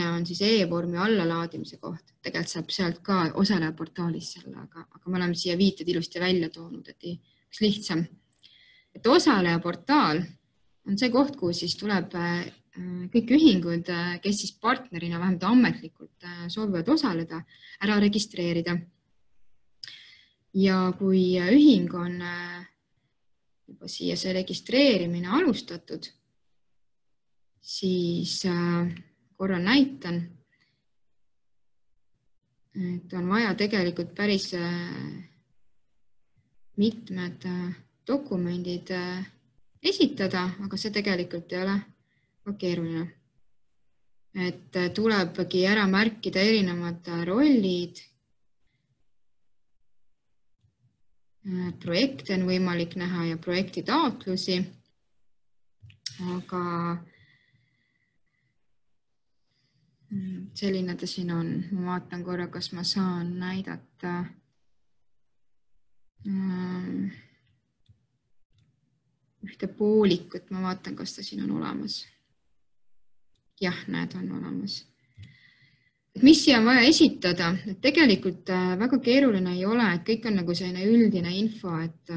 on siis e-vormi allalaadimise koht. Tegelikult saab sealt ka osaleja portaalis selle, aga me oleme siia viited ilusti välja toonud, et üks lihtsam. Et osaleja portaal on see koht, kuhu siis tuleb kõik ühingud, kes siis partnerina vähemalt ametlikult soovivad osaleda, ära registreerida. Ja kui ühing on juba siia see registreerimine alustatud, siis korra näitan, et on vaja tegelikult päris mitmed dokumendid esitada, aga see tegelikult ei ole ka keeruline. Et tulebki ära märkida erinevad rollid, projekte on võimalik näha ja projekti taotlusi, aga selline ta siin on. Ma vaatan korra, kas ma saan näidata ühte poolikut. Ma vaatan, kas ta siin on olemas. Jah, näed, on olemas. Mis siia on vaja esitada? Et tegelikult väga keeruline ei ole, et kõik on nagu selline üldine info, et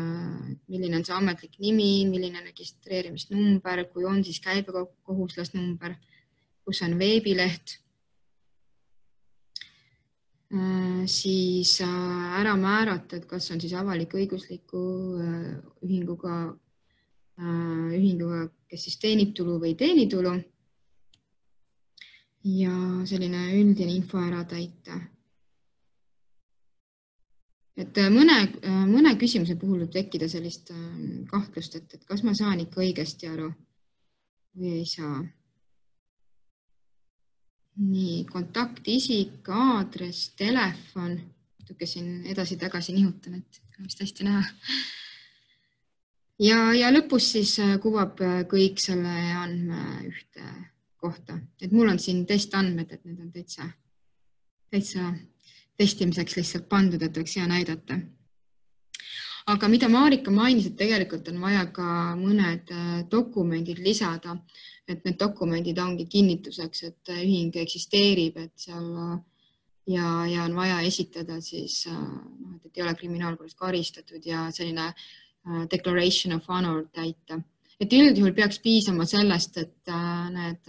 milline on see ametlik nimi, milline on registreerimisnumber, kui on siis käibekohuslasnumber, kus on veebileht, siis ära määrata, et kas on siis avalik-õigusliku ühinguga, kes siis teenib tulu või teenitulu. Ja selline üldine info ära täita. Et mõne küsimuse puhul võib tekkida sellist kahtlust, et kas ma saan ikka õigesti aru või ei saa. Nii, kontaktisik, aadress, telefon. Natuke siin edasi-tagasi nihutan, et vist hästi näha. Ja lõpus siis kuvab kõik selle andme ühte kohta. Et mul on siin testandmed, et need on täitsa täitsa testimiseks lihtsalt pandud, et võiks hea näidata. Aga mida Marika mainis, et tegelikult on vaja ka mõned dokumendid lisada, et need dokumendid ongi kinnituseks, et ühing eksisteerib, et seal ja on vaja esitada siis, et ei ole kriminaalkorras karistatud ja selline declaration of honor täita. Et üldjuhul peaks piisama sellest, et need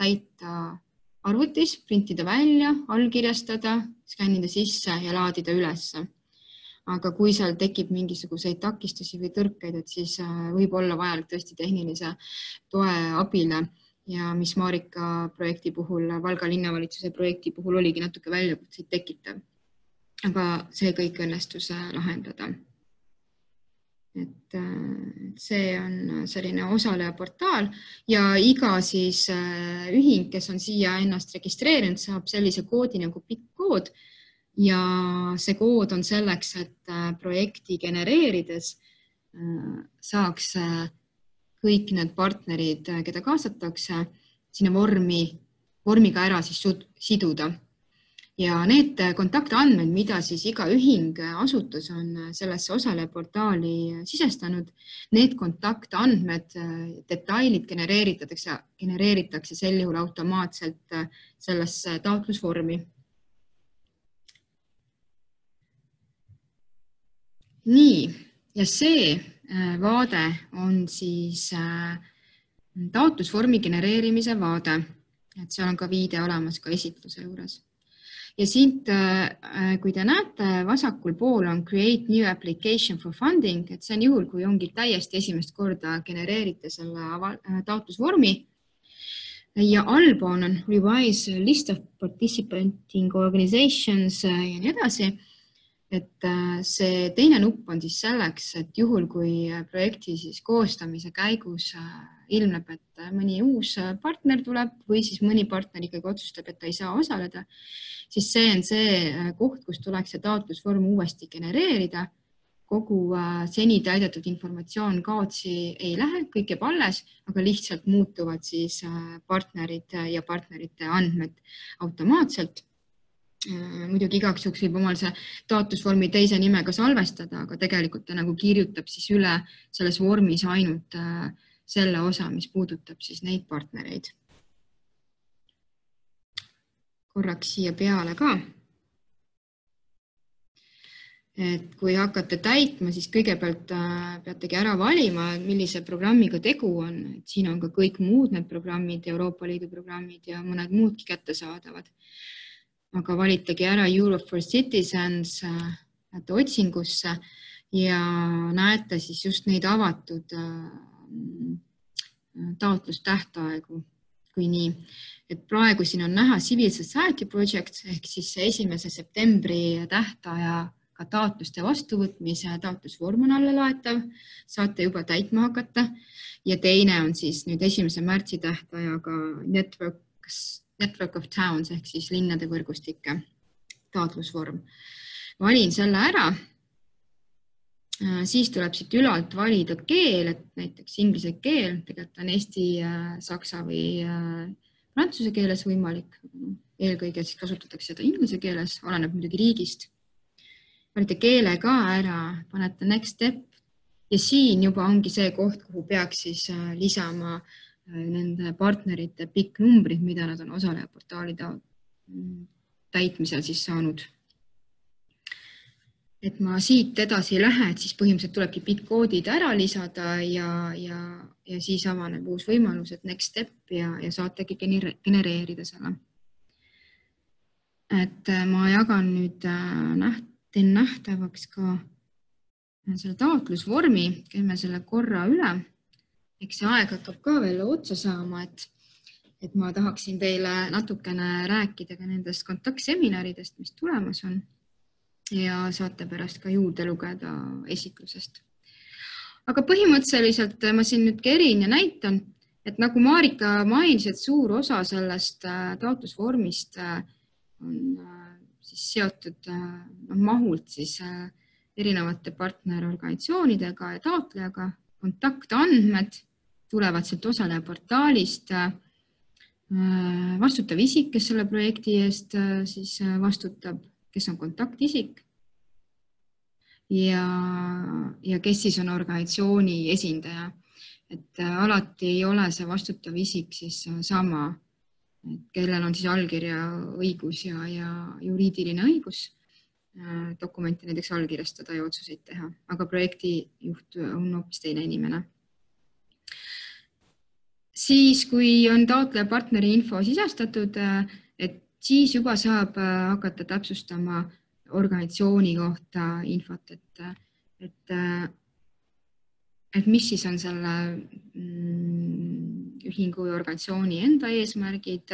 täita arvutis, printida välja, allkirjastada, skännida sisse ja laadida ülesse. Aga kui seal tekib mingisuguseid takistusi või tõrkeid, et siis võib olla vajalik tõesti tehnilise toe abile ja mis Marika projekti puhul, Valga linnavalitsuse projekti puhul oligi natuke väljakutseid tekitav. Aga see kõik õnnestus lahendada. Et see on selline osaleja portaal ja iga siis ühing, kes on siia ennast registreerinud, saab sellise koodi nagu PIK-kood ja see kood on selleks, et projekti genereerides saaks kõik need partnerid, keda kaasatakse, sinna vormiga ära siis siduda. Ja need kontaktandmed, mida siis iga ühing asutus on sellesse osaleja portaali sisestanud, need kontaktandmed, detailid genereeritakse sel juhul automaatselt sellesse taotlusvormi. Nii, ja see vaade on siis taotlusvormi genereerimise vaade, et seal on ka viide olemas ka esitluse juures. Ja siit, kui te näete, vasakul pool on Create New Application for Funding, et see on juhul, kui ongi täiesti esimest korda genereerite selle taotlusvormi. Ja allpool on Revise List of Participating Organizations ja nii edasi. Et see teine nupp on siis selleks, et juhul, kui projekti siis koostamise käigus ilmneb, et mõni uus partner tuleb või siis mõni partner ikkagi otsustab, et ta ei saa osaleda, siis see on see koht, kus tuleks see taotlusvorm uuesti genereerida. Kogu seni täidetud informatsioon kaotsi ei lähe, kõik jääb alles, aga lihtsalt muutuvad siis partnerid ja partnerite andmed automaatselt. Muidugi igaks juhuks võib omal see taotlusvormi teise nimega salvestada, aga tegelikult ta nagu kirjutab siis üle selles vormis ainult selle osa, mis puudutab siis neid partnereid. Korraks siia peale ka. Et kui hakkate täitma, siis kõigepealt peategi ära valima, millise programmiga tegu on. Et siin on ka kõik muud need programmid, Euroopa Liidu programmid ja mõned muudki kättesaadavad. Aga valitagi ära Europe for Citizens otsingusse ja näete siis just neid avatud taotlustähtaegu, kui nii. Et praegu siin on näha Civil Society Project ehk siis 1. septembri tähtajaga taotluste vastuvõtmise taotlusvorm on alla laetav, saate juba täitma hakata ja teine on siis nüüd 1. märtsi tähtajaga Network of Towns ehk siis linnade võrgustike taotlusvorm. Valin selle ära, siis tuleb siit ülalt valida keel, et näiteks inglise keel, tegelikult on eesti, saksa või prantsuse keeles võimalik. Eelkõige siis kasutatakse seda inglise keeles, oleneb muidugi riigist. Valite keele ka ära, panete next step ja siin juba ongi see koht, kuhu peaks siis lisama nende partnerite pikk numbrid, mida nad on osaleja portaali täitmisel siis saanud. Et ma siit edasi ei lähe, et siis põhimõtteliselt tulebki PIK-koodid ära lisada ja siis avaneb uus võimalus, et next step ja saategi genereerida selle. Et ma jagan nüüd, teen nähtavaks ka selle taotlusvormi, käime selle korra üle. Eks see aeg hakkab ka veel otsa saama, et ma tahaksin teile natukene rääkida ka nendest kontaktseminaridest, mis tulemas on ja saate pärast ka juurde lugeda esitlusest. Aga põhimõtteliselt ma siin nüüd kerin ja näitan, et nagu Marika mainis, et suur osa sellest taotlusvormist on siis seotud mahult siis erinevate partnerorganisatsioonidega ja taotlejaga, kontaktandmed tulevad sealt osaleja portaalist, vastutav isik, kes selle projekti eest siis vastutab, kes on kontaktisik ja kes siis on organisatsiooni esindaja. Et alati ei ole see vastutav isik siis sama, kellel on siis allkirja õigus ja juriidiline õigus dokumente näiteks allkirjastada ja otsuseid teha, aga projektijuht on hoopis teine inimene. Siis, kui on taotleja partneri info sisestatud, et siis juba saab hakata täpsustama organisatsiooni kohta infot, et mis siis on selle ühingu või organisatsiooni enda eesmärgid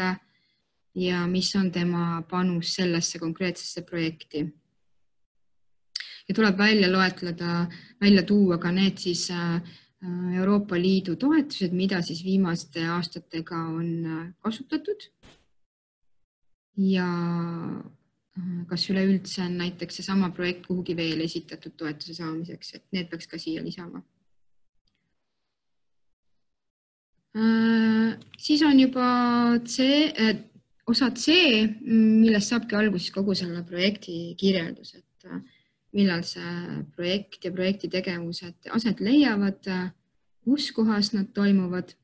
ja mis on tema panus sellesse konkreetsesse projekti. Ja tuleb välja loetleda, välja tuua ka need siis Euroopa Liidu toetused, mida siis viimaste aastatega on kasutatud ja kas üleüldse on näiteks seesama projekt kuhugi veel esitatud toetuse saamiseks, et need peaks ka siia lisama. Siis on juba osa C, millest saabki alguses kogu selle projekti kirjeldus, et millal see projekt ja projekti tegevused aset leiavad, kus kohas nad toimuvad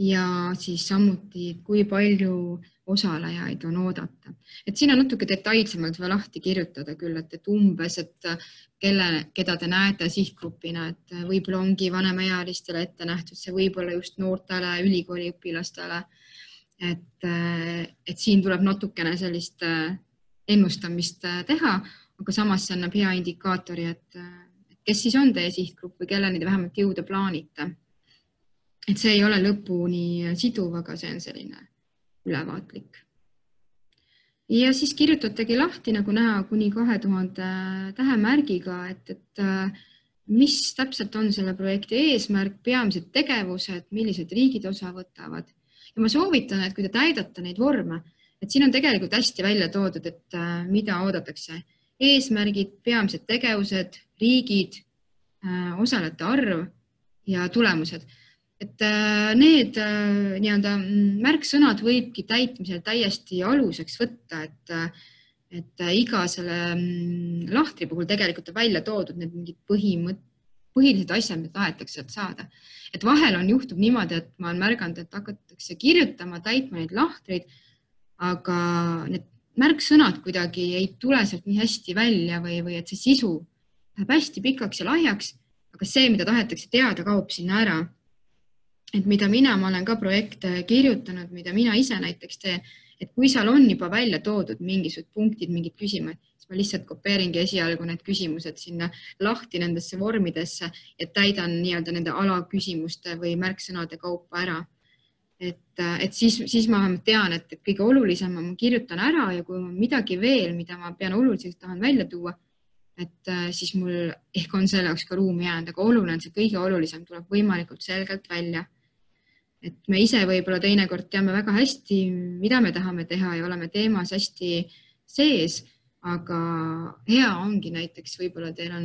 ja siis samuti, kui palju osalejaid on oodata. Et siin on natuke detailsemalt veel lahti kirjutada küll, et umbes, et keda te näete sihtgrupina, et võib-olla ongi vanemaealistele ette nähtud, see võib-olla just noortele ülikooliõpilastele, et siin tuleb natukene sellist ennustamist teha, aga samas see annab hea indikaatori, et kes siis on teie sihtgrupp või kelleni te vähemalt jõuda plaanite. Et see ei ole lõpuni siduv, aga see on selline ülevaatlik. Ja siis kirjutatagi lahti, nagu näha, kuni 2000 tähemärgiga, et mis täpselt on selle projekti eesmärk, peamised tegevused, millised riigid osa võtavad. Ja ma soovitan, et kui te täidate neid vorme, et siin on tegelikult hästi välja toodud, et mida oodatakse. Eesmärgid, peamised tegevused, riigid, osalejate arv ja tulemused. Et need märksõnad võibki täitmisel täiesti aluseks võtta, et iga selle lahtri puhul tegelikult on välja toodud need mingid põhilised asjad, mida tahetakse saada. Et vahel on juhtub niimoodi, et ma olen märganud, et hakatakse kirjutama, täitma neid lahtreid, aga need märksõnad kuidagi ei tule sealt nii hästi välja või et see sisu läheb hästi pikaks ja lahjaks, aga see, mida tahetakse teada, kaob sinna ära. Et mida ma olen ka projekte kirjutanud, mida mina ise näiteks teen, et kui seal on juba välja toodud mingisugused punktid, mingid küsimused, siis ma lihtsalt kopeeringi esialgu need küsimused sinna lahti nendesse vormidesse ja täidan nii-öelda nende alaküsimuste või märksõnade kaupa ära. Et siis ma tean, et kõige olulisem ma kirjutan ära ja kui on midagi veel, mida ma pean oluliseks tahan välja tuua, et siis mul ehk on selle jaoks ka ruumi jäänud, aga oluline, see kõige olulisem tuleb võimalikult selgelt välja. Et me ise võib-olla teinekord teame väga hästi, mida me tahame teha ja oleme teemas hästi sees, aga hea ongi näiteks, võib-olla teil on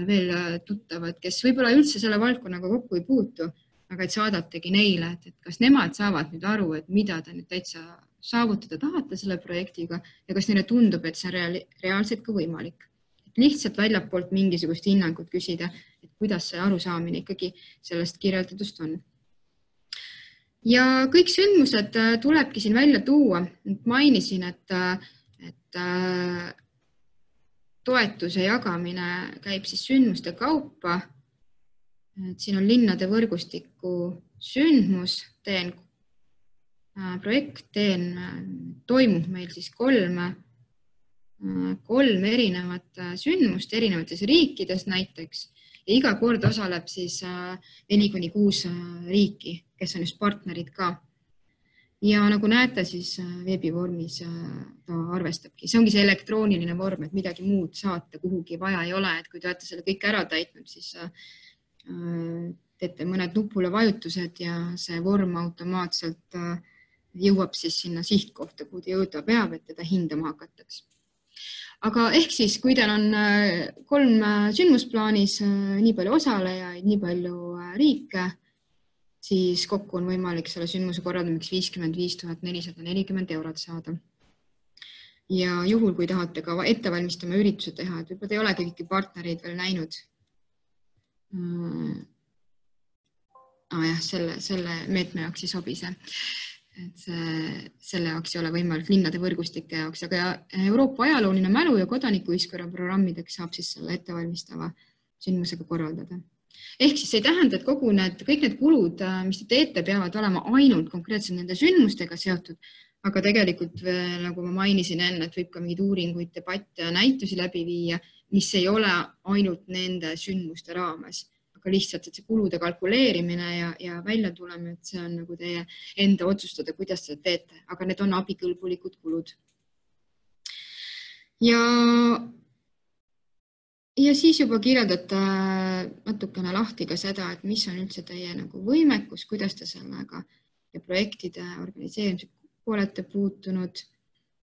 veel tuttavad, kes võib-olla üldse selle valdkonnaga kokku ei puutu, aga et saadategi neile, et kas nemad saavad nüüd aru, et mida te nüüd täitsa saavutada tahate selle projektiga ja kas neile tundub, et see on reaalselt ka võimalik. Et lihtsalt väljapoolt mingisugust hinnangut küsida, et kuidas see arusaamine ikkagi sellest kirjeldatust on. Ja kõik sündmused tulebki siin välja tuua. Mainisin, et toetuse jagamine käib siis sündmuste kaupa. Siin on linnade võrgustiku sündmus, projekt toimub meil siis kolm erinevat sündmust erinevates riikides näiteks ja iga kord osaleb siis 4-6 riiki, kes on just partnerid ka. Ja nagu näete, siis veebivormis ta arvestabki. See ongi see elektrooniline vorm, et midagi muud saata kuhugi vaja ei ole, et kui te olete selle kõik ära täitnud, siis teete mõned nupule vajutused ja see vorm automaatselt jõuab siis sinna sihtkohta, kuhu ta jõuda peab, et teda hindama hakatakse. Aga ehk siis, kui teil on 3 sündmusplaanis, nii palju osalejaid, nii palju riike, siis kokku on võimalik selle sündmuse korraldamiseks 55 440 eurot saada. Ja juhul, kui tahate ka ettevalmistama ürituse teha, et võib-olla ei olegi kõiki partnereid veel näinud. Jah, selle meetme jaoks ei sobi see. Et selle jaoks ei ole võimalik linnade võrgustike jaoks, aga Euroopa ajalooline mälu ja kodanikuühiskonna programmideks saab siis selle ettevalmistava sündmusega korraldada. Ehk siis ei tähenda, et kõik need kulud, mis te teete, peavad olema ainult konkreetselt nende sündmustega seotud, aga tegelikult, nagu ma mainisin enne, et võib ka mingeid uuringuid, debatte ja näitusi läbi viia, mis ei ole ainult nende sündmuste raames, aga lihtsalt et see kulude kalkuleerimine ja välja tulema, et see on nagu teie enda otsustada, kuidas seda teete, aga need on abikõlbulikud kulud. Ja siis juba kirjeldate natukene lahti ka seda, et mis on üldse teie nagu võimekus, kuidas te sellega ja projektide organiseerimisega olete puutunud,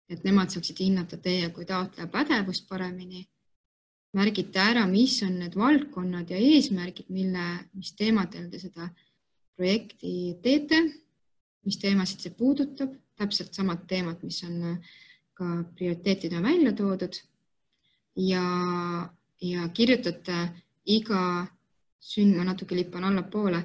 et nemad saaksid hinnata teie kui taotleja pädevust paremini. Märgite ära, mis on need valdkonnad ja eesmärgid, mis teemadel te seda projekti teete, mis teemasid see puudutab, täpselt samad teemad, mis on ka prioriteetidena välja toodud ja kirjutate iga sündma natuke lippan allapoole,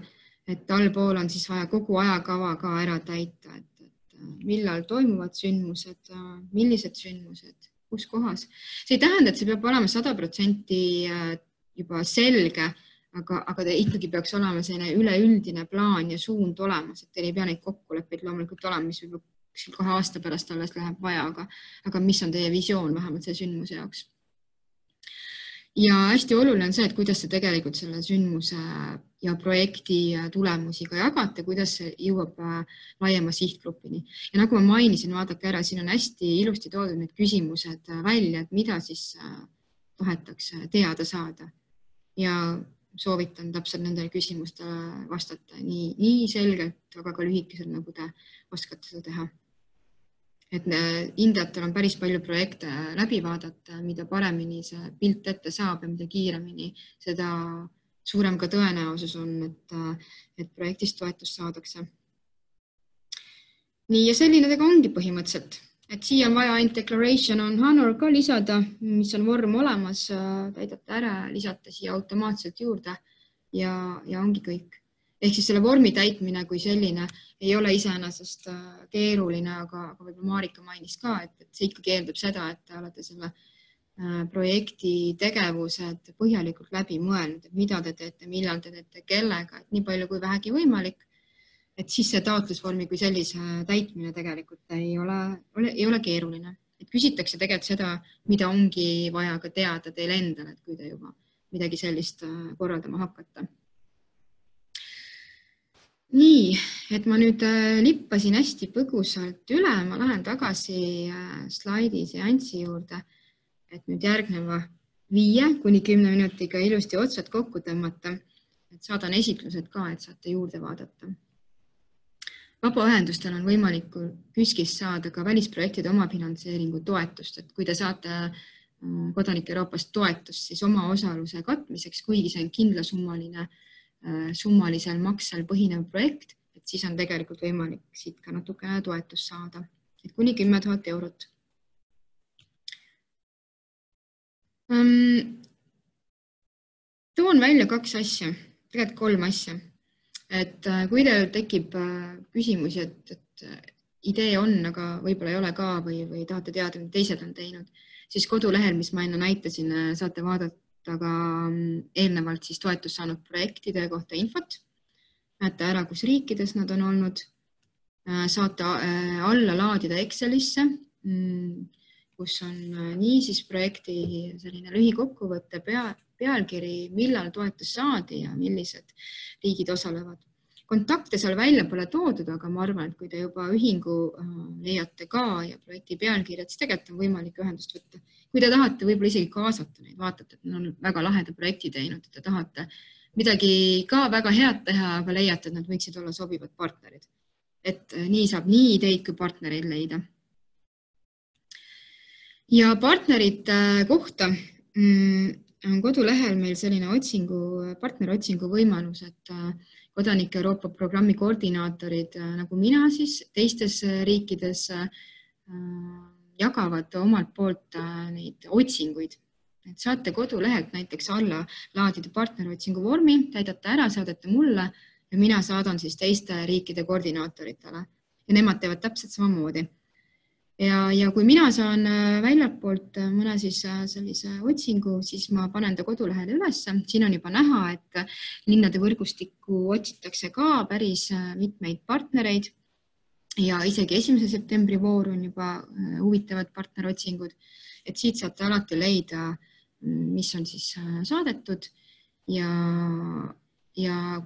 et allpool on siis vaja kogu ajakava ka ära täita, et millal toimuvad sündmused, millised sündmused, kus kohas. See ei tähenda, et see peab olema 100% juba selge, aga ta ikkagi peaks olema selline üleüldine plaan ja suund olemas, et teil ei pea neid kokkuleppeid loomulikult olema, mis võib kohe aasta pärast alles läheb vaja, aga mis on teie visioon vähemalt selle sündmuse jaoks. Ja hästi oluline on see, et kuidas te tegelikult selle sündmuse ja projekti tulemusi ka jagate, kuidas see jõuab laiema sihtgrupini. Ja nagu ma mainisin, vaadake ära, siin on hästi ilusti toodud need küsimused välja, et mida siis tahetakse teada saada. Ja soovitan täpselt nendele küsimustele vastata nii selgelt, aga ka lühikeselt, nagu te oskate seda teha. Et hindajatel on päris palju projekte läbi vaadata, mida paremini see pilt ette saab ja mida kiiremini, seda suurem ka tõenäosus on, et projektist toetust saadakse. Nii ja selline tega ongi põhimõtteliselt, et siia on vaja ainult declaration on honor ka lisada, mis on vorm olemas, täidate ära, lisate siia automaatselt juurde ja ongi kõik. Ehk siis selle vormi täitmine kui selline ei ole iseenesest keeruline, aga võib-olla Marika mainis ka, et see ikkagi eeldab seda, et te olete selle projekti tegevused põhjalikult läbi mõelnud, et mida te teete, millal te teete, kellega, et nii palju kui vähegi võimalik, et siis see taotlusvormi kui sellise täitmine tegelikult ei ole keeruline. Et küsitakse tegelikult seda, mida ongi vaja ka teada teil endal, et kui te juba midagi sellist korraldama hakkate. Nii, et ma nüüd lippasin hästi põgusalt üle, ma lähen tagasi slaidi seanssi juurde, et nüüd järgneva 5 kuni 10 minutiga ilusti otsad kokku tõmmata, et saadan esitlused ka, et saate juurde vaadata. Vabaühendustel on võimalik KÜSK-ist saada ka välisprojektide omafinantseeringu toetust, et kui te saate kodanike Euroopast toetust, siis oma osaluse katmiseks, kuigi see on kindlasummaline summalisel maksel põhinev projekt, et siis on tegelikult võimalik siit ka natukene toetust saada, et kuni 10 000 eurot. Toon välja 2 asja, tegelikult 3 asja, et kui teil tekib küsimusi, et idee on, aga võib-olla ei ole ka või tahate teada, mida teised on teinud, siis kodulehel, mis ma enne näitasin, saate vaadata aga eelnevalt siis toetust saanud projektide kohta infot. Näete ära, kus riikides nad on olnud. Saate alla laadida Excelisse, kus on nii siis projekti selline lühikokkuvõtte pealkiri, millal toetus saadi ja millised riigid osalevad. Kontakte seal välja pole toodud, aga ma arvan, et kui te juba ühingu leiate ka ja projekti pealkirjad, siis tegelikult on võimalik ühendust võtta. Kui te tahate võib-olla isegi kaasata neid, vaatate, et nad on väga laheda projekti teinud, et te tahate midagi ka väga head teha, aga leiate, et nad võiksid olla sobivad partnerid. Et nii saab nii ideid kui partnereid leida. Ja partnerite kohta on kodulehel meil selline partneritsingu võimalus, et kodanike Euroopa programmi koordinaatorid nagu mina siis teistes riikides jagavad omalt poolt neid otsinguid. Et saate kodulehelt näiteks alla laadida partnerotsingu vormi, täidate ära, saadate mulle ja mina saadan siis teiste riikide koordinaatoritele ja nemad teevad täpselt samamoodi. Ja kui mina saan väljapoolt mõne siis sellise otsingu, siis ma panen ta kodulehele üles. Siin on juba näha, et linnade võrgustikku otsitakse ka päris mitmeid partnereid ja isegi 1. septembri voor on juba huvitavad partnerotsingud. Et siit saate alati leida, mis on siis saadetud ja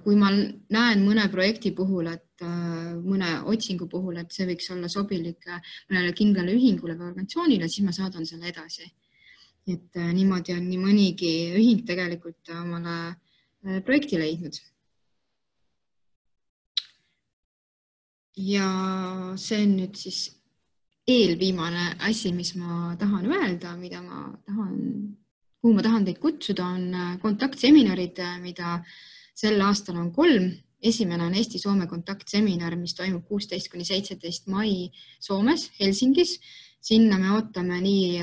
kui ma näen mõne projekti puhul, et mõne otsingu puhul, et see võiks olla sobilik mõnele kindlale ühingule või organisatsioonile, siis ma saadan selle edasi. Et niimoodi on nii mõnigi ühing tegelikult omale projekti leidnud. Ja see on nüüd siis eelviimane asi, mis ma tahan öelda, kuhu ma tahan teid kutsuda, on kontaktseminarid, mida sel aastal on 3. Esimene on Eesti-Soome kontaktseminar, mis toimub 16–17 mai Soomes, Helsingis. Sinna me ootame nii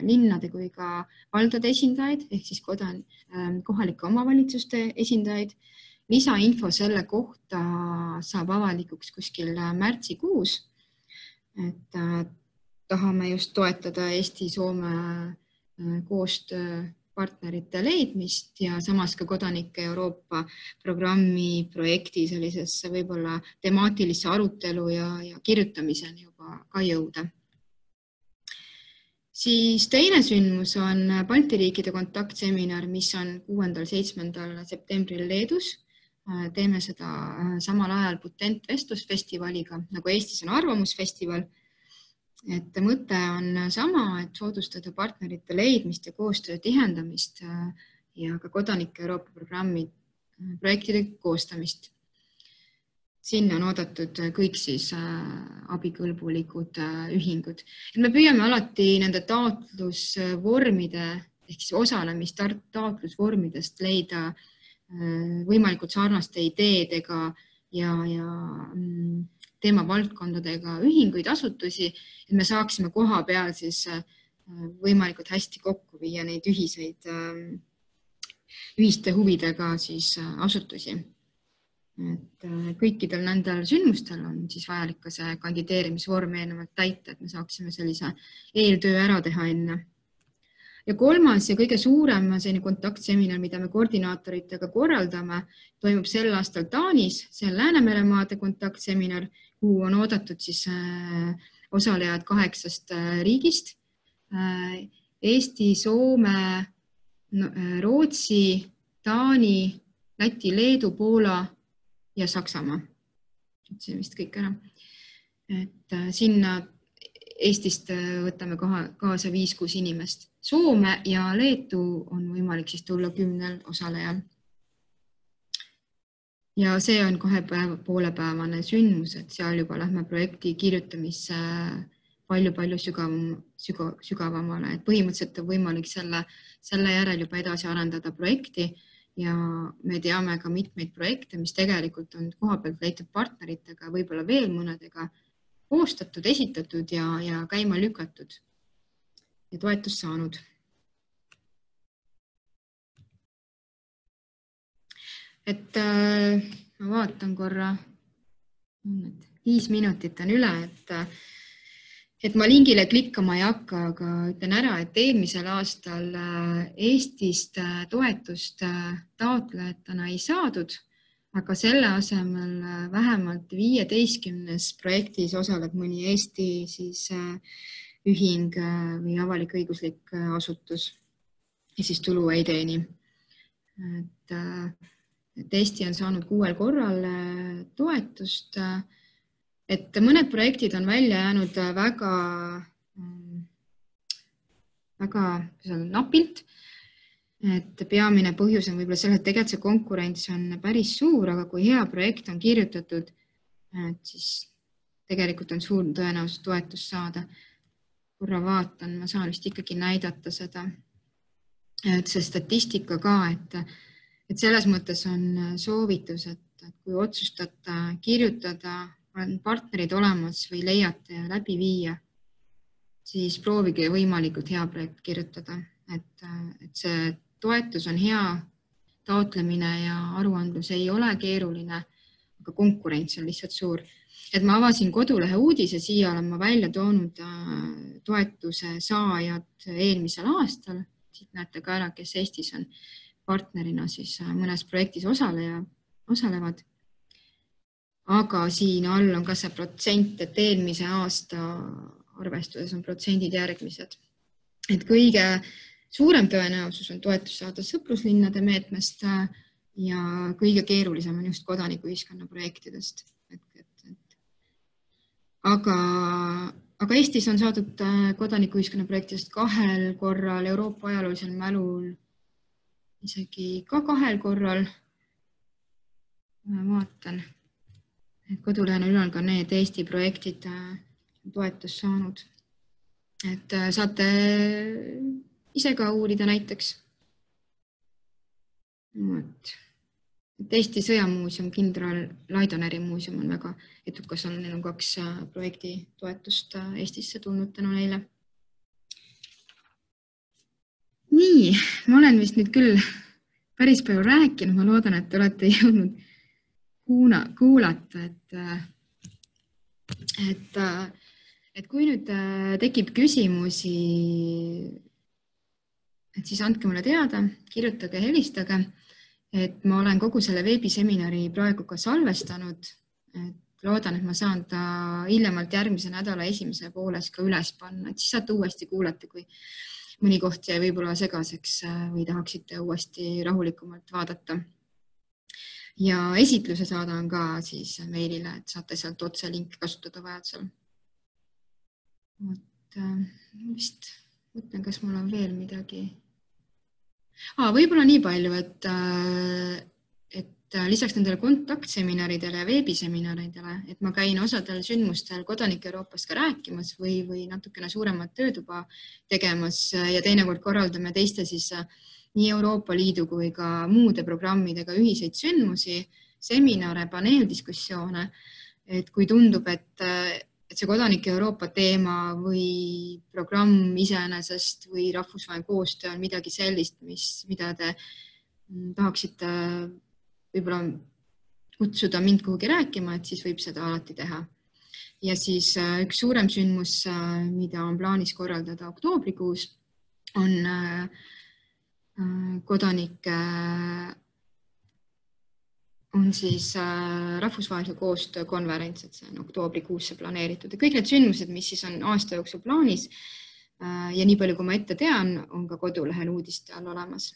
linnade kui ka valdade esindajaid, ehk siis kohalike omavalitsuste esindajaid. Lisainfo selle kohta saab avalikuks kuskil märtsikuus. Et tahame just toetada Eesti-Soome koostööpartnerite leidmist ja samas ka kodanike Euroopa programmi projekti sellisesse võib-olla temaatilisse arutelu ja kirjutamiseni juba ka jõuda. Siis teine sündmus on Balti riikide kontaktseminar, mis on 6.–7. septembril Leedus. Teeme seda samal ajal Putent vestlusfestivaliga, nagu Eestis on arvamusfestival. Et mõte on sama, et soodustada partnerite leidmist ja koostöö tihendamist ja ka kodanike Euroopa programmi projektide koostamist. Sinna on oodatud kõik siis abikõlbulikud ühingud. Me püüame alati nende taotlusvormide ehk siis osalemistaotlusvormidest leida võimalikult sarnaste ideedega ja teemavaldkondadega ühinguid, asutusi, et me saaksime koha peal siis võimalikult hästi kokku viia neid ühiste huvidega siis asutusi. Et kõikidel nendel sündmustel on siis vajalik ka see kandideerimisvorm eelnevalt täita, et me saaksime sellise eeltöö ära teha enne. Ja 3. ja kõige suurem kontaktseminar, mida me koordinaatoritega korraldame, toimub sel aastal Taanis. See on Läänemeremaade kontaktseminar, kuhu on oodatud siis osalejad 8 riigist. Eesti, Soome, Rootsi, Taani, Läti, Leedu, Poola ja Saksamaa. See vist kõik ära. Et sinna Eestist võtame kaasa 5-6 inimest. Soome ja Leetu on võimalik siis tulla 10 osalejal. Ja see on 2,5-päevane sündmus, et seal juba lähme projekti kirjutamisse palju sügavamale. Et põhimõtteliselt on võimalik selle järel juba edasi arendada projekti ja me teame ka mitmeid projekte, mis tegelikult on kohapealt leitud partneritega, võib-olla veel mõnedega koostatud, esitatud ja käima lükatud ja toetust saanud. Et ma vaatan korra, 5 minutit on üle, et ma lingile klikkama ei hakka, aga ütlen ära, et eelmisel aastal Eestist toetust taotlejatena ei saadud, aga selle asemel vähemalt 15 projektis osaleb mõni Eesti siis ühing või avalik-õiguslik asutus ja siis tulu ei teeni. Et Eesti on saanud 6 korral toetust, et mõned projektid on välja jäänud väga napilt. Et peamine põhjus on võib-olla selle, et tegelikult see konkurents on päris suur, aga kui hea projekt on kirjutatud, siis tegelikult on suur tõenäosus toetust saada. Korra vaatan, ma saan vist ikkagi näidata seda. Et see statistika ka, et selles mõttes on soovitus, et võtta, et kui otsustate kirjutada, on partnerid olemas või leiate ja läbi viia, siis proovige võimalikult hea projekt kirjutada, et see toetus on hea, taotlemine ja aruandlus ei ole keeruline, aga konkurents on lihtsalt suur. Et ma avasin kodulehe uudise, siia olen ma välja toonud toetuse saajad eelmisel aastal. Siit näete ka ära, kes Eestis on partnerina siis mõnes projektis osalevad. Aga siin all on ka see protsent, et eelmise aasta arvestuses on protsendid järgmised. Et kõige suurem tõenäosus on toetus saada sõpruslinnade meetmest ja kõige keerulisem on just kodanikuühiskonna projektidest. Aga Eestis on saadud kodanikuühiskonna projektidest 2 korral, Euroopa ajaloolisel mälul isegi ka 2 korral. Ma vaatan, et kodulehel on ka need Eesti projektid toetust saanud. Et saate ise ka uurida näiteks. Eesti sõjamuuseum, kindral Laidoneri muuseum on väga edukas, neil on 2 projekti toetust Eestisse tulnud tänu neile. Nii, ma olen vist nüüd küll päris palju rääkinud, ma loodan, et te olete jõudnud kuulata, et kui nüüd tekib küsimusi, et siis andke mulle teada, kirjutage, helistage. Et ma olen kogu selle veebiseminari praegu ka salvestanud. Et loodan, et ma saan ta hiljemalt järgmise nädala esimese pooles ka üles panna. Et siis saate uuesti kuulata, kui mõni koht jäi võib-olla segaseks või tahaksite uuesti rahulikumalt vaadata. Ja esitluse saadan ka siis meilile, et saate sealt otse linki kasutada vajadusel. Vist mõtlen, kas mul on veel midagi. Võib-olla nii palju, et lisaks nendele kontaktseminaridele ja veebiseminaridele, et ma käin osadel sündmustel Kodanike Euroopast ka rääkimas või natukene suuremat töötuba tegemas ja teinekord korraldame teiste siis nii Euroopa Liidu kui ka muude programmidega ühiseid sündmusi, seminare, paneeldiskussioone, et kui tundub, et see Kodanike Euroopa teema või programm iseenesest või rahvusvaheline koostöö on midagi sellist, mida te tahaksite võib-olla kutsuda mind kuhugi rääkima, et siis võib seda alati teha. Ja siis üks suurem sündmus, mida on plaanis korraldada oktoobrikuus, on kodanike on siis rahvusvahelise koostöö konverents, et see on oktoobrikuusse planeeritud. Ja kõik need sündmused, mis siis on aasta jooksul plaanis ja nii palju, kui ma ette tean, on ka kodulehel uudiste all olemas.